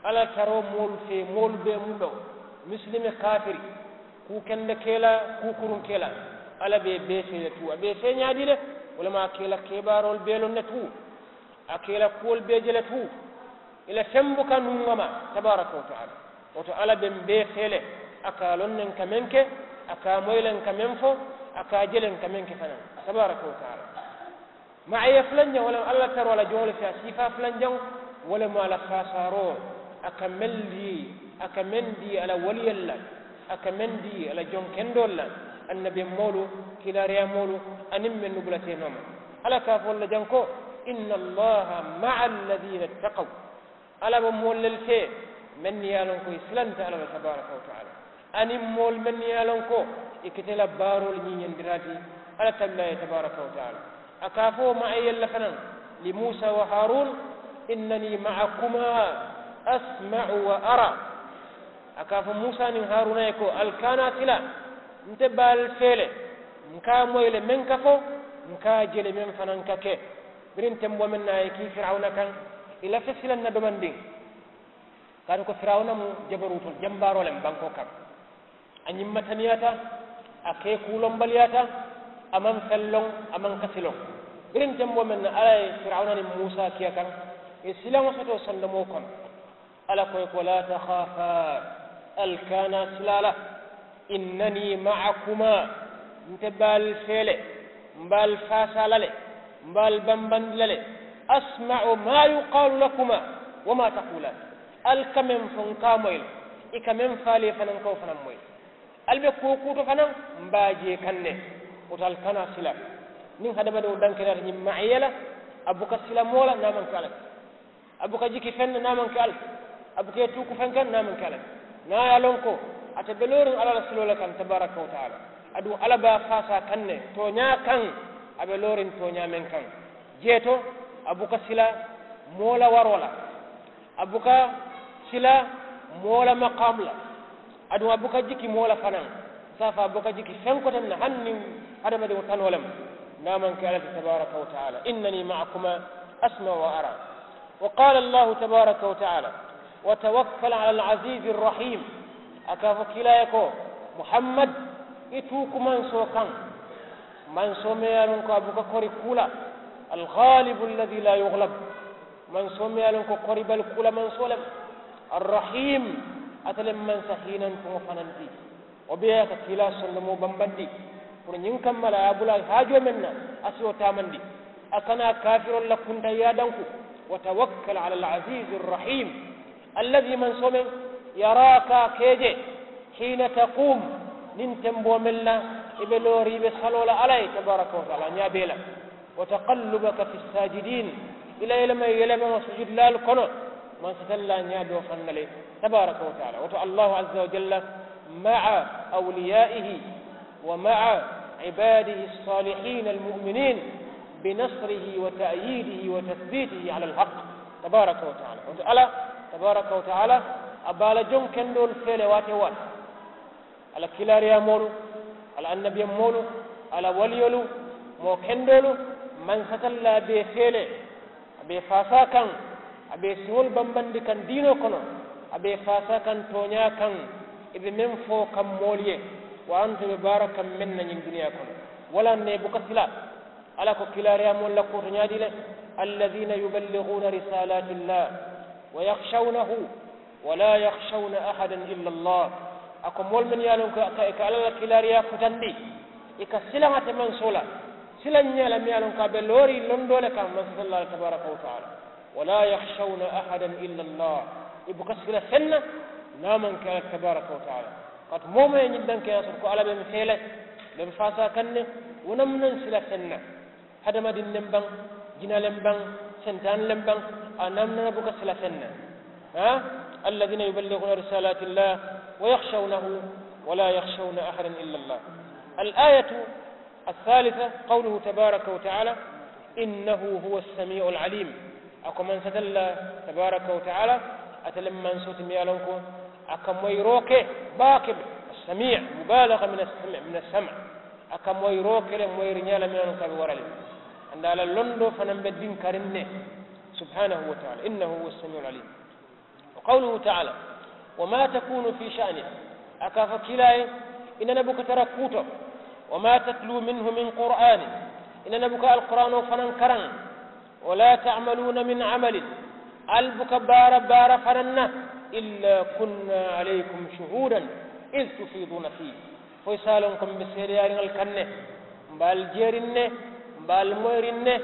Alla la taroo moolu fee moolu bee mu bewo, misilimi kaafiri, kuu kende ke la, kuu kuruŋ ke la, alla be i bee fee le tuu a be i fee ñaadii le. Wo le mu a ke la kebaaroolu bee loŋ ne tuu, a ke la kuwolu bee je le tuu. I la feŋ buka nuŋ a ma tabaaraka wa taala. Wo to alla be m̀ bee fee le. A ka a loŋ ne n ka meŋ ke, a ka a moyi le n ka meŋ fo, a ka a je le n ka meŋ ke fanaa tabaaraka wa taala. Maaya fulanjaŋo wo le mu alla la taroo a la joŋo le fee a siifaa fulanjaŋo, wo le mu a la faasaaroo. A ka meŋ dii a ka meŋ dii a la waliyolu la, a ka meŋ dii a la joŋ kendoolu la, annabiyaŋ moolu, kiilaariyaa moolu, aniŋ mennu bula tee nooma. Alla ka a fo le jaŋ ko, inna allaha maa alladiina ittaqaw. Alla be moolu le fee mennu ye a loŋ ko i silanta alla la tabaaraka wa taala, aniŋ moolu mennu ye a loŋ ko i keta i la baaroolu ñiiñandiraa ti alla tabilaa ye tabaaraka wa taala. A ka a fo maayel la fanaŋ, li muusa wa haaruun, innanii maakuma asmau wa ara. A ka a fo muusa niŋ haaruuna ye ko ali kaana sila, nte be ali fee le, n ka a moyi le meŋ ka fo, n ka a je le meŋ fanaŋ ka ke. Biriŋ temboo meŋ na a ye kii firawuna kaŋ, i lafita sila n na domandiŋ. Kaatu ko firawuna mu jabaruutoo jambaaroo le mu bankoo kaŋ. A ñimmataniyaata, a kee kuulombaliyaata. A maŋ feŋ loŋ, a maŋ kasi loŋ. Biriŋ temboo meŋ na alla ye firawuna niŋ muusa kiya kaŋ, i silaŋo soto sondomoo kono. Alla ko i ko laa taxaafaa, ali kaana sila a la. Innanii maakuma, nte be ali fee le, m̀ be ali faasaa la le, m̀ be ali bambandi la le. Asmau maa yuqaalu lakuma wa maa taquulaan. Ali ka meŋ fo n ka a moyi le, i ka meŋ fo ali ye fanaŋ n ka wo fanaŋ moyi le. Ali be kuwo kuuto fanaŋ, m̀ be a je kaŋ ne. Wo to ali kana sila. Niŋ hadamadiŋo dankenaata ñiŋ maaya la, a buka sila moo la niŋ a maŋ ke alla ti. A buka jiki feŋ na niŋ a maŋ ke alla ti. A buka i tuuku feŋ kaŋ niŋ a maŋ ke alla ti. Niŋ a ye a loŋ ko ate be looriŋ alla la siloo le kaŋ tabaaraka wa taala, aduŋ alla be a faasaa kaŋ ne tooñaa kaŋ. A be looriŋ tooñaa meŋ kaŋ, jee to, a buka sila moo la waroo la. A buka sila moo la maqaamu la. Aduŋ a buka jiki moo la fanaŋ. Saafa a buka jiki feŋ koteŋ na hani niŋ hadamadiŋo tanoo le mu, niŋ a maŋ ke alla ti tabaaraka wa taala. Innanii maakuma asmau wa ara. Wa qaala allahu tabaaraka wa taala, wa tawakkal ala al aziizi arrahiim. A ka a fo kiilaa ye ko, muhammad, i tuuku mansoo kaŋ, mansoo meŋ ye a loŋ ko a buka kori kuu la. Algaalibu allazii laa yuglab. Mansoo meŋ ye a loŋ ko koribali kuu la mansoo le mu. Arrahiim, ate le mu mansa hiinantuŋo fanaŋ ti. Wo bee ye a ka kiilaa sondomoo bambandi. Puru ñiŋ kamma la a ye a bula haajoo meŋ na, a si wo taamandi. A kana kaafiroolu la kuntaŋ yaadanku. Wa tawakkal ala al aziizi arrahiim. Allazii, mansoo meŋ, yaraaka a ka i je, hiina taquum, niŋ temboo meŋ na i be looriŋ i be saloo la alla ye tabaaraka wa taala ñaa bee la. Wa taqallubaka fi ssaajidiin, i la yelema yelemaŋo sujudulaalu kono, mansatallaa ñaa be wo faŋ na le tabaaraka wa taala. Wo to allahu azza wa jalla, maa awliyaa'ihi wa maa ibaadihi ssaalihiina almu'miniin, binasrihi wa ta'yiidihi wa tathbiitihi ala alhaq tabaaraka wa taala. Wo to alla tabaaraka wa taala, a be a la joŋ kendoolu fee le waati wo waati. A la kiilaariyaamoolu, a la annabiyaŋ moolu, a la waliyolu, moo kendoolu, mansatallaa be i fee le. A be i faasaa kaŋ, a be i siŋolu bambandi kaŋ diinoo kono. A be i faasaa kaŋ tooñaa kaŋ, i be meŋ fo kaŋ moolu ye, waranto i be baara kaŋ meŋ na ñiŋ duniyaa kono. Walaŋ ne i buka sila. Alla ko kiilaariyaamoolu la kuwo to ñaadii le, allaziina yuballihuuna risaalaati llaahi wa yaxshawnahu, wa laa yaxshawna ahadan illa allah. A ko moolu mennu ye a loŋ ko i ka alla la kiilaariyaa futandi, i ka silaŋ ate mansoo la, silaŋ ñaa la meŋ ye a loŋ ko a be looriŋ londoo le kaŋ mansatallaa la tabaaraka wa taala. Wa laa yaxshawna ahadan illa allah. I buka sila feŋ na niŋ a maŋ ke alla tabaaraka wa taala. Kaatu moo moo ye ñiŋ dankeyaa soto ko alla be m̀ fee le, be m̀ faasaa kaŋ ne, wo naŋ mu naŋ sila feŋ na. Hadamadiŋ le m̀ baŋ, jina le m̀ baŋ, sentaani le m̀ baŋ, a naŋ mu naŋ buka sila feŋ na. Allaziina yuballihuuna risaalaati llaahi wa yaxshawnahu, wa laa yaxshawna ahadan illa allah. Al aayatu الثالثة قوله تبارك وتعالى إنه هو السميع العليم. A ko mansatallaa tabaaraka wa taala, ate le mu mansoo ti meŋ ye a loŋ ko a ka moyiroo ke baake. Assamii, mubaalaga min assamii, min assamii. A ka moyiroo ke le moyiri ñaa la meŋ ka be wara le. Andaa la londoo fanaŋ be dinkariŋ ne. Subhanahu wa taala innahu huwa samiul alim. Wa qawluhu taala, wa ma takunu fi sha'nin. A ka fo kiilaa ye, i nana buka tara kuuto. Wa ma tatlu minhu min qur'anin. I nana buka alqur'aanoo fanaŋ karaŋ. Wa la ta'maluuna min amalin. Ali buka baara baara fanaŋ na. Illa kunna alaykum shuhuudan iz tufiiduuna fiihi. Fo i se a loŋ ko mbe seedeyaariŋ ali kaŋ ne. Mbe ali jeeriŋ ne. Mbe ali moyiriŋ ne.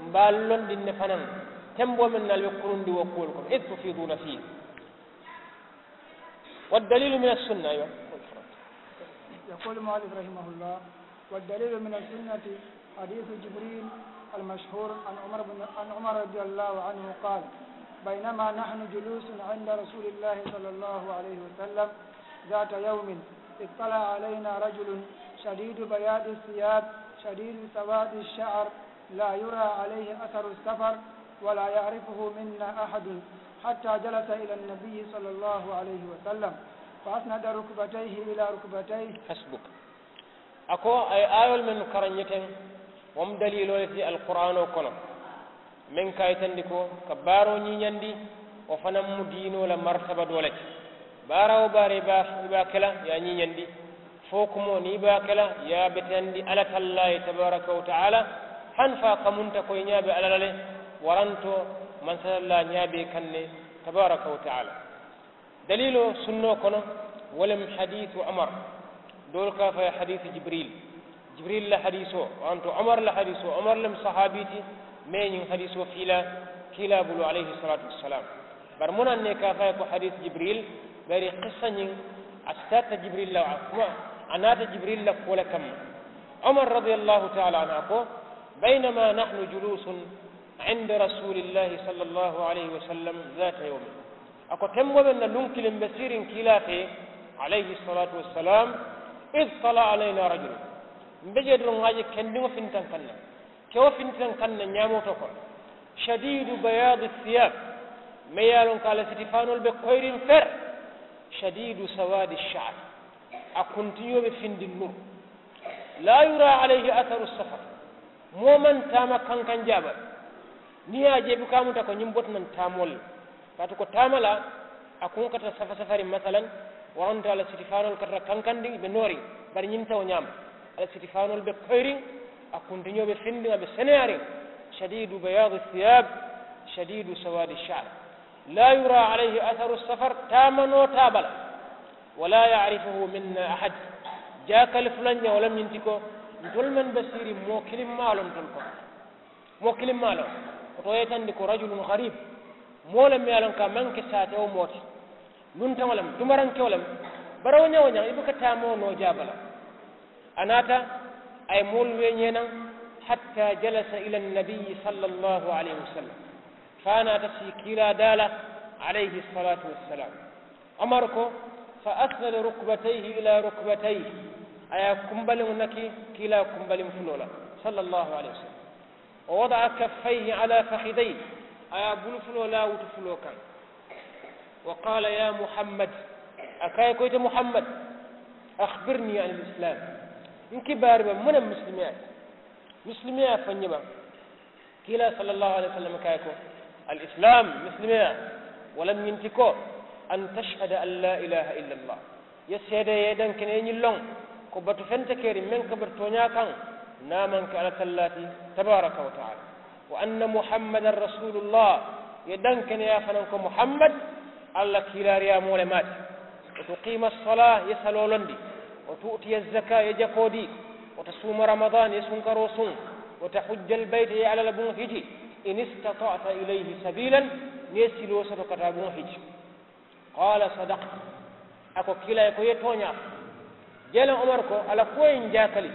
Mbe ali londiŋ ne fanaŋ. Temboo meŋ na ali be kurundi wo kuwolu kono iz tufiiduuna fiihi. Wa daliilu mina sunna. Aywa. Yaqulu al-mu'allif rahimahullah, wa daliilu mina sunnati, hadiisu jibriil al-mashhuur an umar bin an umar radiyallahu anhu qaal, baynama nahnu juluusun inda rasuulillaahi sallallaahu alayhi wa sallam, zaata yawmin, ittala'a alaynaa rajulun shadiidu bayaadi siyaab, shadiidu sawaadi sha'r, laa yuraa alayhi asaru safar, wa laa ya'rifuhu minna ahadun, hattaa jalasa ila nabiyyi sallallaahu alayhi wa sallam, fa asnada rukbatayhi ila rukbatayhi. Hasbuk. A ko a ye aayoolu mennu karaŋ ñiŋ teŋ, wo mu daliiloo le ti alquraanoo kono, meŋ ka a yitandi ko ka baaroo ñiiñandi. Wo fanaŋ mu diinoo la martaba doo le ti. Baara wo baara i be a ke la i ye a ñiiñandi. Fo kumoo niŋ i be a ke la i ye a beteyandi alla tallaa ye tabaaraka wa taala. Hani fo a kamunta ko i ñaa be alla la le, warantoo mansatallaa ñaa be i kaŋ ne, tabaaraka wa taala. Daliiloo sunnoo kono, wo le mu hadiisu umar. Doolu ka a fo a ye hadiisu jibriil. Jibriil la hadiisoo, wo to umar la hadiisoo umar le mu sahaabii ti. Mee ñiŋ hadiisoo fiilaa kiilaa bulu alayhi salaatu wassalaamu. Bari muŋ na ne ka a fo a ye ko hadiisu jibriil? Bari kissa ñiŋ a sitaata jibriil la a kuma, a naata jibriil la kuwo le kamma. Umar radiyallaahu taala anhu a ko, baynama nahnu juluusun inda rasuulillaahi sallallaahu alayhi wa sallam zaata yawmin. A ko temboo meŋ na luŋ kiliŋ be siiriŋ kiilaa fee, alayhi salaatu wassalaamu, iz tala'a alaynaa rajulun. Mbe jee doroŋ ŋa a je kendiŋo fintaŋ kaŋ na. Kewo fintaŋ kaŋ na ñaamoo to kono. Shadiidu bayaadi siyaab. Meŋ ye a loŋ ko a la sitifaanoolu be koyiriŋ fere. Shadiidu sawaadi sha'r. A kuntiñoo be findiŋ nuru. Laa yuraa alayhi asaru safar. Moo maŋ taama kankaŋ jaaba. Niŋ i ye a je i buka a muta ko ñiŋ bota naŋ taamoo le la. Kaatu ko taama la a kuŋo ka tara safa safariŋ masalan. Waranto a la sitifaanoolu ka tara kankandiŋ i be nooriŋ. Bari ñiŋ nte wo ñaama. A la sitifaanoolu be koyiriŋ. A kuntiñoo be findiŋ a be seneyaariŋ. Shadiidu bayaadi siyaab. Shadiidu sawaadi sha'r. Laa yuraa alayhi asaru safar. Taamanoo taaba la. Wa laa ya'rifuhu minna ahad. Jaakali fulaŋ ñaŋ wo le mu ñiŋ ti ko ntolu mennu be siiriŋ moo kiliŋ maŋ a loŋ ntolu kono. Moo kiliŋ maŋ a loŋ. Wo to wo ye i tandi ko rajulun gariib. Moo le mu ye a loŋ ko a maŋ ke saatewo moo ti. Luntaŋo le mu tumarankewo le mu. Bari wo ñaŋ wo ñaŋ i buka taamoo noo jaaba la. A naata a ye moolu weeñee naŋ. Hattaa jalasa ila annabiyyi sallallaahu alayhi wa sallam. Fo a naata sii kiilaa daa la. Alayhi salaatu wassalaam. Umar ko, fa asnada rukbatayhi ila rukbatayhi. A ye a kumbaliŋo naki kiilaa kumbaliŋ fuloo la, sallallaahu alayhi wa sallam. Wa wada'a kaffayhi ala fakhidayhi. A ye a bulu fuloo laa wutu fuloo kaŋ. Wa qaala ya muhammad. A ko a ye ko ite muhammad, akhbirnii anil islaam. N kibaari ba muŋ ne mu misilimeyaa ti? Misilimeyaa fo n ye ba? Kiilaa sallallaahu alayhi wa sallam ko a ye ko, al islaam, misilimeyaa, wo le mu ñiŋ ti ko, an tashhada an laa ilaaha illa allah. Ye seede ye dankeneyaa ñiŋ loŋ, ko batu feŋ te keriŋ meŋ ka batu tooñaa kaŋ, niŋ a maŋ ke alla tallaa ti, tabaaraka wa taala. Wa anna muhammadan rasuulullah. Ye dankeneyaa fanaŋ ko muhammad, alla kiilaariyaamoo le mu a ti. Wa tuqiima assalaa, ye saloo londi. Wa tu'tiya azzakaa, ye jakoo dii. Wa tasuuma ramadaan, ye sunkaroo suŋ. Wa tahujja albayta, ye alla la buŋo hiji. In istata'ta ilayhi sabiilan, niŋ ye siloo soto ka taa buŋo hiji. Qaala sadaqta. A ko kiilaa ye ko i ye tooñaa fo. Jeeleŋ umar ko a la kuwo ye ñiŋ jaakali.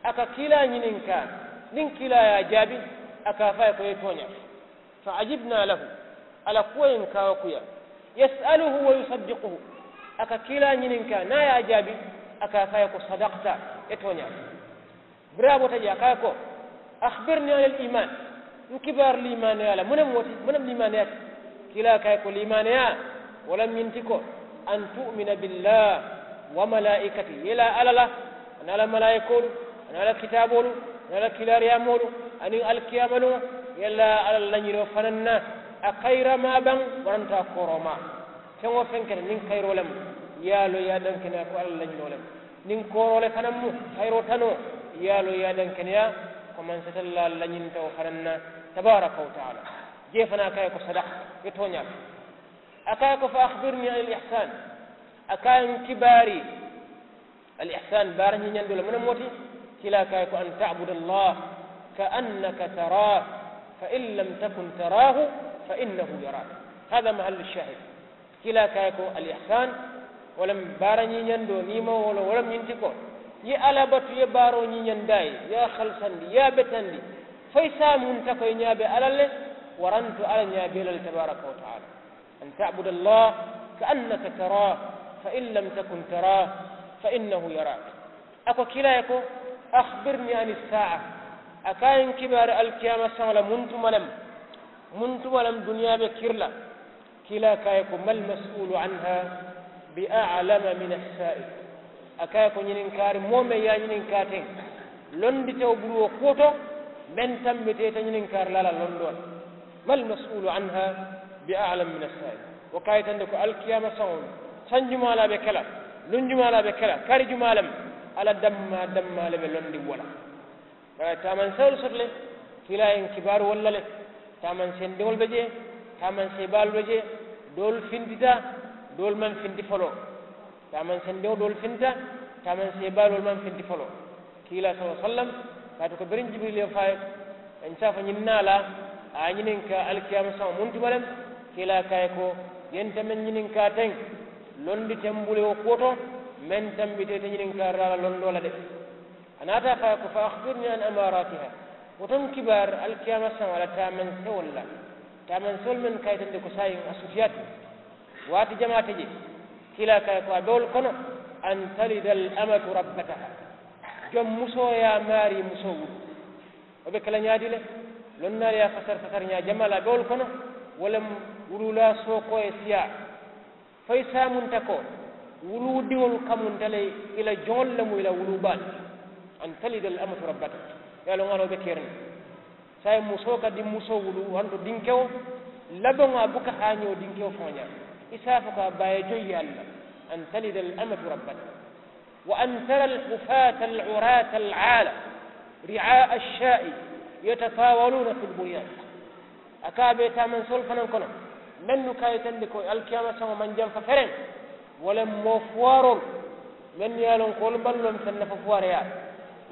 A ka kiilaa ñininkaa, niŋ kiilaa ye a jaabi, a ka a fo a ye ko i ye tooñaa fo. Fa ajibnaa lahu. A la kuwo ye ñiŋ kaawakuyaa. Yas'aluhu wa yusaddiquhu. A ka kiilaa ñininkaa niŋ a ye a jaabi, a ka a fo a ye ko sadaqta, i ye tooñaa fo. Biriŋ a bota jee a ko a ye ko, akhbirnii anil iimaan. N kibaari liimaaneyaa la muŋ ne mu wo ti? Muŋ ne mu liimaaneyaa ti? Kiilaa ko a ye ko liimaaneyaa, wo le mu ñiŋ ti ko, an tu'mina billaahi, wa malaa'ikatihi, ye i laa alla la, aniŋ a la malaayikoolu, Niŋ a la kitaaboolu, niŋ a la kiilaariyaamoolu, aniŋ alikiyaamaluŋo, yalla a la lañinoo fanaa na a kayiramaa baŋ, waranta a kooromaa. Feŋ-wo-feŋ keta niŋ kayiroo le mu, i ye a loŋ i ye a dankeneyaa ko a la lañinoo le mu. Niŋ kooroo le fanaa mu, kayiroo tanoo, i ye a loŋ i ye a dankeneyaa ko mansatallaa lañinta wo fanaa na. Tabaaraka wa taala. Jee fanaa a ka a ye ko sadakta, i ye tooñaa ke. A ka a ye ko fa akhbirnii anil ihsaan. A ka a ye n kibaari. Al ihsaan baara ñiiñandoo le mu ne moo ti? Kiilaa ka a ye ko an taabuda allah ka annaka taraahu, fa in lam takun taraahu, fa innahu yaraak. Haadaa mahallu shaahid. Kiilaa ka a ye ko al ihsaan, wo le mu baara ñiiñandoo niŋ i maŋ wo loŋ wo le mu ñiŋ ti ko, i ye alla batu i ye baaroo ñiiñandi a ye, i ye a halisandi i ye a betandi, fo i se a munta ko i ñaa be alla le. Waranto alla ñaa be i la le tabaaraka wa taala. An taabuda allah ka annaka taraahu, fa in lam takun taraahu, fa innahu yaraak. A ko kiilaa ye ko akhbirnii ani saa'a. A ka a ye n kibaari alikiyaama saŋo la muŋ tuma le mu? Muŋ tuma le mu duniyaa be kiri la? Kiilaa ka a ye ko mal masuulu anha bi a'lama min assaa'il. A ka a ye ko ñininkaari moo meŋ ye a ñininkaa teŋ, londitewo bulu wo kuwo to meŋ tambita ite ñininkaari la a la londoo la. Mal masuulu anha bi a'lama min assaa'il. Wo ka a yitandi ko alikiyaama saŋo sanjumaa le a be ke la, lunjumaa le a be ke la, kari jumaa le mu, a la dammaa dammaa le be londiŋ wo la. Bari a ye taamanseewolu soto le. Kiilaa ye n kibaaru wolu la le. Taamanseŋ diŋolu be jee, taamanseŋ baalu be jee. Doolu fintita, doolu maŋ finti foloo. Taamanseŋ diŋo doolu fintita, taamanseŋ baalu doolu maŋ finti foloo. Kiilaa sallallaahu alayhi wasallam, kaatu ko biriŋ jibiriili ye fo a ye, n si a fo ñiŋ naa la, a ye a ñininkaa alikiyaama saŋo muŋ tuma le mu? Kiilaa ka a ye ko, ye nte meŋ ñininkaa teŋ, londi te m bulu wo kuwo to meŋ tambita ite ñininkaari la a la londoo la de. A naata a fo a ye ko fa akhbirnii an amaaraatiha. Wo to n kibaari alikiyaama saŋo a la taamansewolu la, taamansewolu mennu ka a yitandi ko saayiŋ a sutiyaata. Waati jamaa te jee, kiilaa ka a ye ko a be wolu kono, an talida al amatu rabbataha. Joŋ musoo ye a maarii musoo wulu. Wo be ke la ñaadi le? Lonnaalu ye a fasari fasari ñaa jamaa le a be wolu kono. Wo le mu wuluulaa sookoo ye siyaa. Fo i se a munta ko wuluudiŋolu kamunta le i la joŋolu le mu i la wuluu baalu. An talida al amatu rabbataha. I ye a loŋ a la wo be keriŋ ne. Saayiŋ musoo ka dinmusoo wuluu waranto dinkewo labaŋo a buka haañoo dinkewo faŋo ñaa. I se a fo ko a baa ye joŋ yaalu la. An talida al amatu rabbataha. Wa an tara al hufaata al uraata al aala ri'aa al shaa'i yatataawaluuna fi al bunyaan. A ka a be taamanseŋolu fanaŋ kono mennu ka a yitandi ko alikiyaama saŋo maŋ jamfa fereŋ. Wo le mu moo fuwaaroolu mennu ye a loŋ ko wolu maŋ loŋ feŋ na fo fuwaareyaa,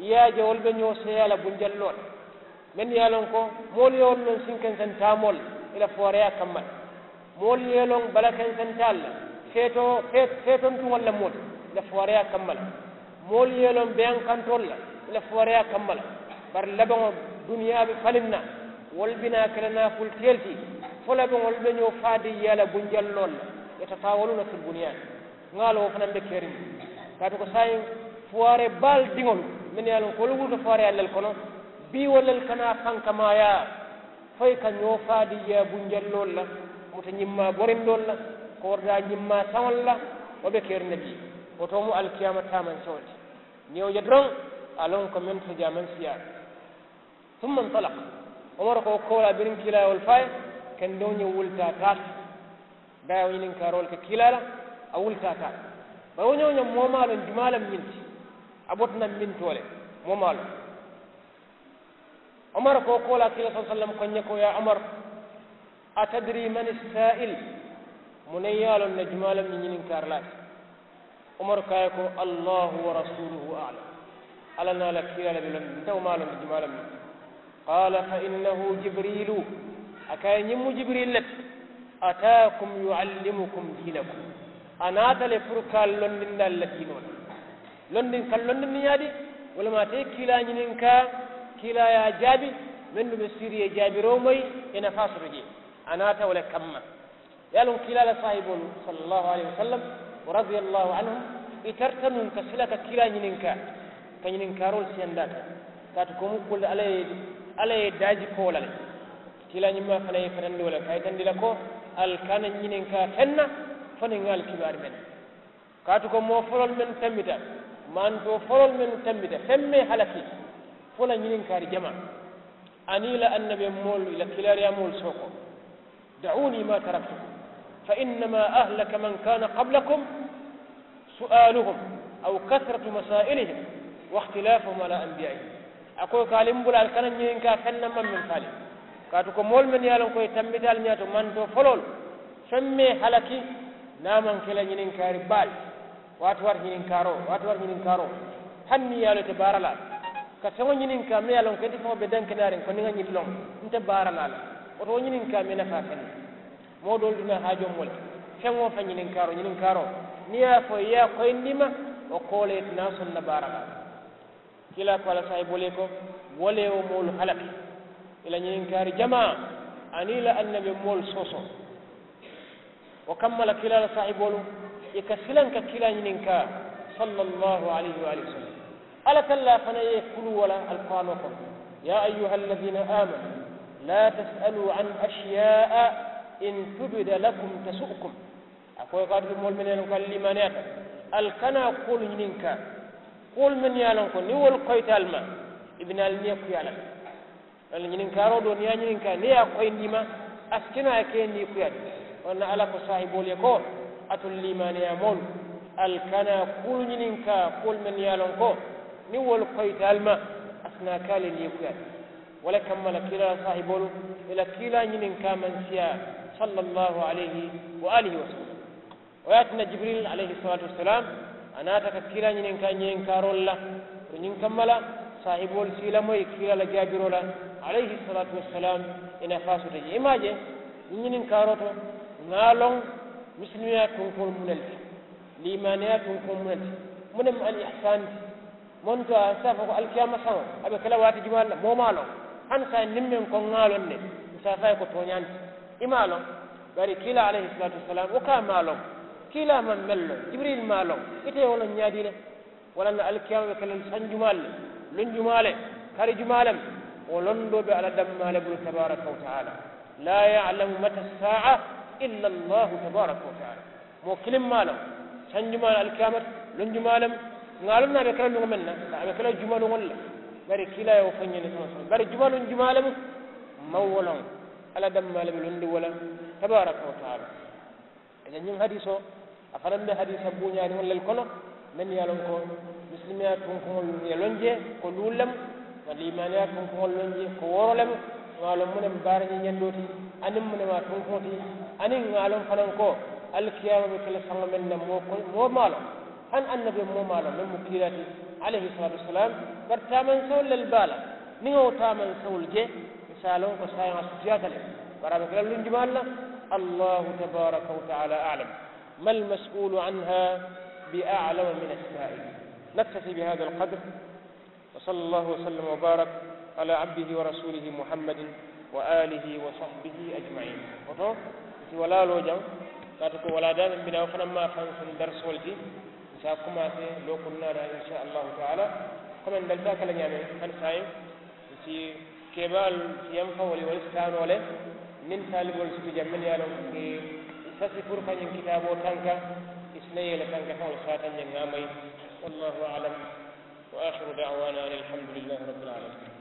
i ye a je wolu be ñoo seeyaa la bunjalloo la. Mennu ye a loŋ ko moolu ye wolu loŋ sinkenseŋ taamoolu la i la fuwaareyaa kamma le. Moolu ye loŋ balakenseŋ taalu la feetoo feetontuŋolu la moolu i la fuwaareyaa kamma le. Moolu ye loŋ beyankantoolu la i la fuwaareyaa kamma le. Bari labaŋo duniyaa be faliŋ na wolu bi naa ke la naafulutiyolu ti. Fo labaŋo wolu be ñoo faadiyyaa la bunjalloolu la. Yatataawaluuna fil bunyaan. Ŋa a loŋ wo fanaŋ be keriŋ ne. Kaatu ko saayiŋ fuwaaree baalu diŋolu mennu ye a loŋ ko wolu wulita fuwaareyaa lelu kono, bii wo lelu ka naa fankamaayaa fo i ka ñoo faadiyyaa bunjalloolu la, muta ñimmaa borindoolu la, kooridaa ñimmaa saŋolu la. Wo be keriŋ ne bii. Wo to mu alikiyaama taamanseŋo ti. Niŋ i ye wo je doroŋ a loŋ ko meŋ to jee a maŋ siyaa. Summa ntalaka. Umaru ko wo koolaa biriŋ kiilaa ye wolu fo a ye, kendeŋo ñiŋ wulita a taata. Baayi wo ñininkaaroolu ke kiilaa la, a wulita a taata. Bari wo ñoo ñoŋ moo maŋ a loŋ jumaa le mu ñiŋ ti. A bota naŋ mintoo le moo maŋ a loŋ. Umaru ko wo koolaa kiilaa sallallaahu alayhi wasallam ko ñe ko yaa umaru, atadri mani saa'il? Munaŋ ye a loŋ ne jumaa le mu ñiŋ ñininkaarilaa ti? Umaru ko a ye ko, allahu wa rasuuluhu a'lam. Alla niŋ a la kiilaa le be loŋ nte wo maŋ a loŋ ne jumaa le mu ñiŋ ti. Qaala fa innahu jibiriilu. A ko a ye ñiŋ mu jibiriilu le ti. Ataakum yu'allimukum diinakum. A naata le puru ka ali londindi ali la diinoo la. Londindi ka ali londindi ñaadi? Wo le mu a te ye kiilaa ñininkaa, kiilaa ye a jaabi. Mennu be siiri ye jaabiroo moyi, i nafaa soto jee. A naata wo le kamma. Ye a loŋ kiilaa la saahiboolu sallallaahu alayhi wasallam wa radiyallaahu anhum, i tarata nuŋ ka sila ka kiilaa ñininkaa, ka ñininkaaroolu siyandi a kaŋ. Kaatu ko mu kuu le alla ye, alla ye daaji ko wo la le. Kiilaa ñimmaa fanaa ye i fatandi wo le ka a yitandi i la ko ali kana ñininkaa feŋ na fo niŋ ŋa ali kibaari meŋ na. Kaatu ko moo foloolu mennu tambita Mantoo foloolu mennu tambita feŋ mee halaki fo la ñininkaari jamaa aniŋ i la annabiyomoolu i la kiilaariyaamoolu sookoo. Da'uunii maa taraktukum fa innamaa ahlaka man kaana qablakum su'aaluhum aw kasratu masaa'ilihim wa ixtilaafuhum alaa anbiyaa'ihim. A ko i ka ali m bula ali kana ñininkaa feŋ na maŋ meŋ faali. Kaatu ko moolu mennu ye a loŋ ko i tambita ali ñaato mantoo foloolu feŋ mee halaki naa maŋ ke la ñininkaari baalu. Waati wari ñininkaaroo waati wari ñininkaaroo. Hani niŋ i ye a loŋ i te baara laa la ka feŋo ñininkaa meŋ ye a loŋ ko i te feŋo be dankenaariŋ ko niŋ ŋa ñiŋ loŋ nte baara laa la. Wo to wo ñininkaa meŋ nafaa feŋ na moo doolu duna haajoo moo le. Feŋ wo feŋ ñininkaaroo ñininkaaroo niŋ i ye a fo i ye a koyindi i ma wo koole i te naa soŋ na baara laa la. Kiilaa ko a la saayiboolu ye ko wo le ye wo moolu halaki i la ñininkaari jamaa aniŋ i la annabiyomoolu soosoo. Wo kamma la kiilaa la saahiboolu i ka silaŋ ka kiilaa ñininkaa sallallahu alayhi wa sallam. Alla tallaa fanaŋ ye i kuluu wo la alquraanoo kono. Yaa ayyuha alladina aamanu laa tasaluu an asiyaa'a in tubda lakum tasu'kum. A ko i ko alitolu moolu mennu ye a loŋ ko ali liimaaniyaata ali kana kuwolu ñininkaa kuwolu mennu ye a loŋ ko niŋ wolu koyita ali ma i bi naa ali niyo kuyaa la. Walla ñininkaaroo doo niŋ i ye a ñininkaa niŋ i ye a koyindi i ma a si ke noo a ye ke niikuyaa ti. Walla alla ko saahiboolu ye ko alitolu liimaaniyaa moolu ali kana kuwolu ñininkaa kuwolu mennu ye a loŋ ko niŋ wolu koyita ali ma a si naa ke ali ye niikuyaa ti. Wo le kamma la kiilaa la saahiboolu i la kiilaa ñininkaa maŋ siyaa sallallahu alayhi wa alihi wa sallam. Wo ye a tinna jibiriil alayhi salaatu wasalaam a naata ka kiilaa ñininkaa ñininkaaroolu la. Wo ñiŋ kamma la saahiboolu si i lamoyi kiilaa la jaabiroo la alayhi salaatu wasalaam. I nafaa soto je i maŋ a je ñiŋ ñininkaaroo to ŋa a loŋ misilimiyaa tunkuŋolu mu ne le ti? Liimaaniyaa tunkuŋolu mu ne le ti? Mu ne mu ali ihsaani ti? Monto a si a fo ko alikiyaama saŋo a be ke la waati jumaa le la moo maŋ a loŋ. Hani saayiŋ niŋ meŋ ko ŋa a loŋ ne n si a fo a ye ko tooñaa nti. I maŋ a loŋ. Bari kiilaa alayhi salaatu wasalaam wo ka a maŋ a loŋ. Kiilaa maŋ meŋ loŋ jibiriili maŋ a loŋ. Ite ye wo loŋ ñaadii le? Walla na alikiyaama be ke la sanjumaalu le lunjumaalu le karijumaa le. Wo londoo be alla dammaa le bulu tabaaraka wa taala. Laa ya'lamu mata saa'a illa allahu tabaaraka wa taala. Moo kiliŋ maŋ a loŋ sanjumaa le alikiyaama ti lunjumaa le mu. Ŋa a loŋ na a be ke la luŋo meŋ na a be ke la jumaluŋolu le. Bari kiilaa ye wo fo ñiŋ ne sama sama bari jumaluŋ jumaa le mu. Maŋ wo loŋ. Alla dammaa le be londi wo la tabaaraka wa taala. Ite ñiŋ hadiisoo a fanaŋ be hadiisa buuñaariŋolu le kono mennu ye a loŋ ko misilimiyaa tunkuŋolu ye loŋ jee ko luulu le mu. Ka liimaaniyaa tunkuŋolu loŋ jee ko wooro le mu. Ŋa a loŋ mu ne mu baara ñiñandoo ti aniŋ mu ne mu a tunkuŋo ti. Aniŋ ŋa a loŋ fanaŋ ko alikiyaama be ke la saŋo meŋ na moo maŋ a loŋ. Hani annabiyomoo maŋ a loŋ meŋ mu kiilaa ti alayhi salaatu wasalaam. Bari taamansewolu le be a la niŋ ŋa wo taamansewolu je i si a loŋ ko saayiŋ a sutiyaata le. Bari a be ke la lunjumaalu la. Allahu tabaaraka wa taala a'lam. Ma almasuulu anha bi a'lama min assaa'il. Naktafi bi haada alqadr. Wa salla allahu wa sallam wa baarak ala abdihi wa rasuulihi muhammadin wa aalihi wa sahbihi ajma'iin. Woto n si walaa loo jaŋ kaatu ko walaa daa meŋ bi naa wo fanaŋ maŋ a fansuŋ darisoolu ti. N si a kumaasee loo kunnaa daa in sha allahu taala. Komeŋ dali taa kala ñaameŋ hani saayiŋ n si keebaalu si yamfa wolu ye wolu si taa noo le. Niŋ taaliboolu si tu jaŋ mennu ye a loŋ ko ŋa i sasi puru ka ñiŋ kitaaboo tanka i si naa ye i la tankafeŋolu saata n ye ŋa a mayi. Wallaahu a'lam. Wa aakhiru da'waanaa anil hamdu lillaahi rabbil aalamiin.